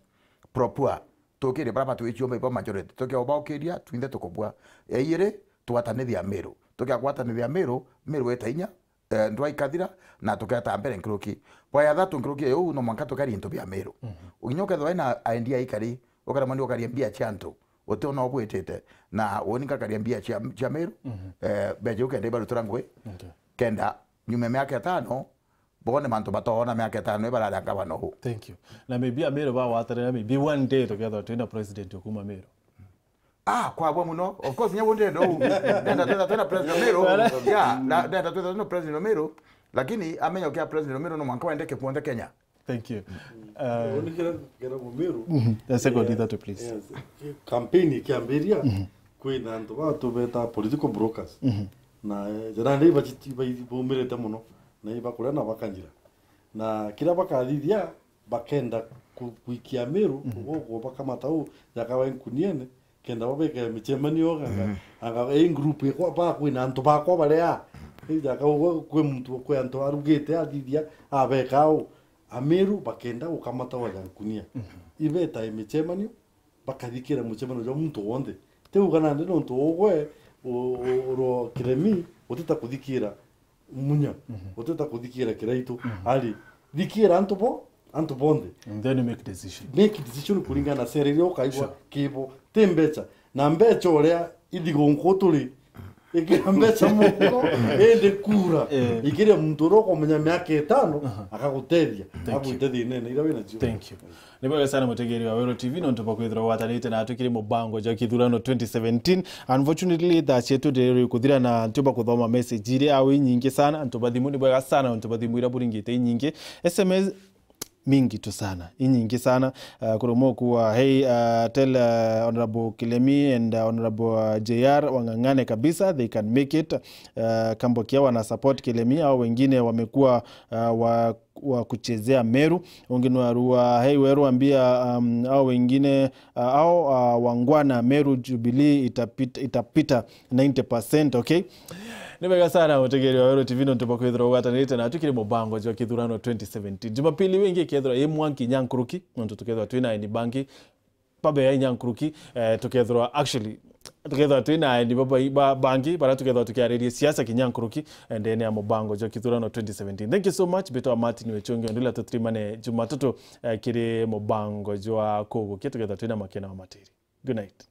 pro poor. Tukirie baria batwiciomba ibo majority. Tukia ubaukiria, twinthe tukubua. Ya iiri, twatanithia Miru. Tukia gwatanithia Miru, Miru weta inya, eh, ndwa ikathira, na tuketa mbere nkuruki. Bwa ya thatu nkuruki ya uu, no mwanka tukeria into bia Miru. Kinya ukethirwa wina idea ikari, ukaremwa ni ukaria mbia cia antu, utiona ubwitite. Na uni ngakaria mbia cia, cia Miru, eh, mbeca iu kenda ibarutira ngui, kenda nyuma ya miaka itano, bone mantu batoona miaka itano ibarari a ngavana uu. Thank you. Na maybe Amiru bagwatanira, maybe one day tukethirwa twina president ukuma Miru. Ah, kwabua muno. Of course, nyagu ndenda uu. Ndenda twetha twina president Miru. Yeah, na, ndenda twetha twina president Miru. Lakini amenya ukia president Miru no mwanka wendeke kuonthe Kenya. Thank you. Uh, Unikira kera Mumiru. The second, eh, ithatu, please. Yes. Campaign ikiambiria, kwina antu batu beta political brokers. Na, eh, njira ndi iba-, iba-, baumirite muno, na ibakuria na bakanyira. Na kiria bakathithia, bakenda ku-, kuikia Miru, guku bakamata uu, jakawa nkuniene, kenda babeke micemanio, anga, anga, ii group ikwa, ba kwina antu bakwa baria, ii jaka uu, kwi muntu, kwi antu arugite athithia, abeka uu. Amiru bakenda gukamata wa ja nkunia. Ibeta micemanio, bakathikira mucemanio jwa muntu wonthe. Ti uga nandi nontu ugwe, u-, u-, urwo kiremi, utita kuthikira munya, utita kuthikira kiraitu. Ari, thikira antu bo, antu bonthe. And then make decision. Make decision kuringana na sera iria ukaigwa kibo. Ti mbecha. Na mbecha uria ithigunku turi, ikira mbecha muno, indi kura, ikiria muntu uria ukumenya miaka itano, akagutethia, agwite thinene iria wina cio. Thank you. Ni bwega sana mutegeri wa Wero T V, nontu bwa kwithirwa gwatanite na tukiri mubango jwa kithurano twenty seventeen. Unfortunately, thaa cietu ndiriri kuthira na ntiumba kuthoma message iria au inyingi sana. Antu ba thimu, ni bwega sana, antu ba thimu iria buringite inyingi. S M S mingi tu sana, inyingi sana. Uh, kuri umwe ukuwa, hey, uh, tell, uh, Honorable Kilemi and, uh, Honorable, uh, J R wang'ang'ane kabisa, they can make it. Uh, Kambokia wana support Kilemi, au wengine wamekuwa, uh, wa wa kuchezea Meru. Ungi nwarua, hey, weru ambia, um, au wengine, uh, au, uh, wangwana, Meru Jubilee itapita, itapita ninety percent, okay? Ni wega sana, mutegeri wa Weru T V, nontu bwa kwithirwa ugwatanirite na tukiri mubango jwa kithurano twenty seventeen. Jumapili wingi ikethirwa i mwanki nyankuruki, nontu tukethirwa twina aeni bangi, babe ya inya nkuruki, eh, tukethirwa, actually, tukethirwa twina aeni baba-, ba-, bangi, bara tukethirwa tukiariria siasa kinya nkuruki, eh, ndene ya mubango jwa kithurano twenty seventeen. Thank you so much, mbitwa Martin Wechonge, ndila tutrimane Jumatatu, eh, kiri mubango jwa kugukia, tukethirwa twina makena wa matiri. Good night.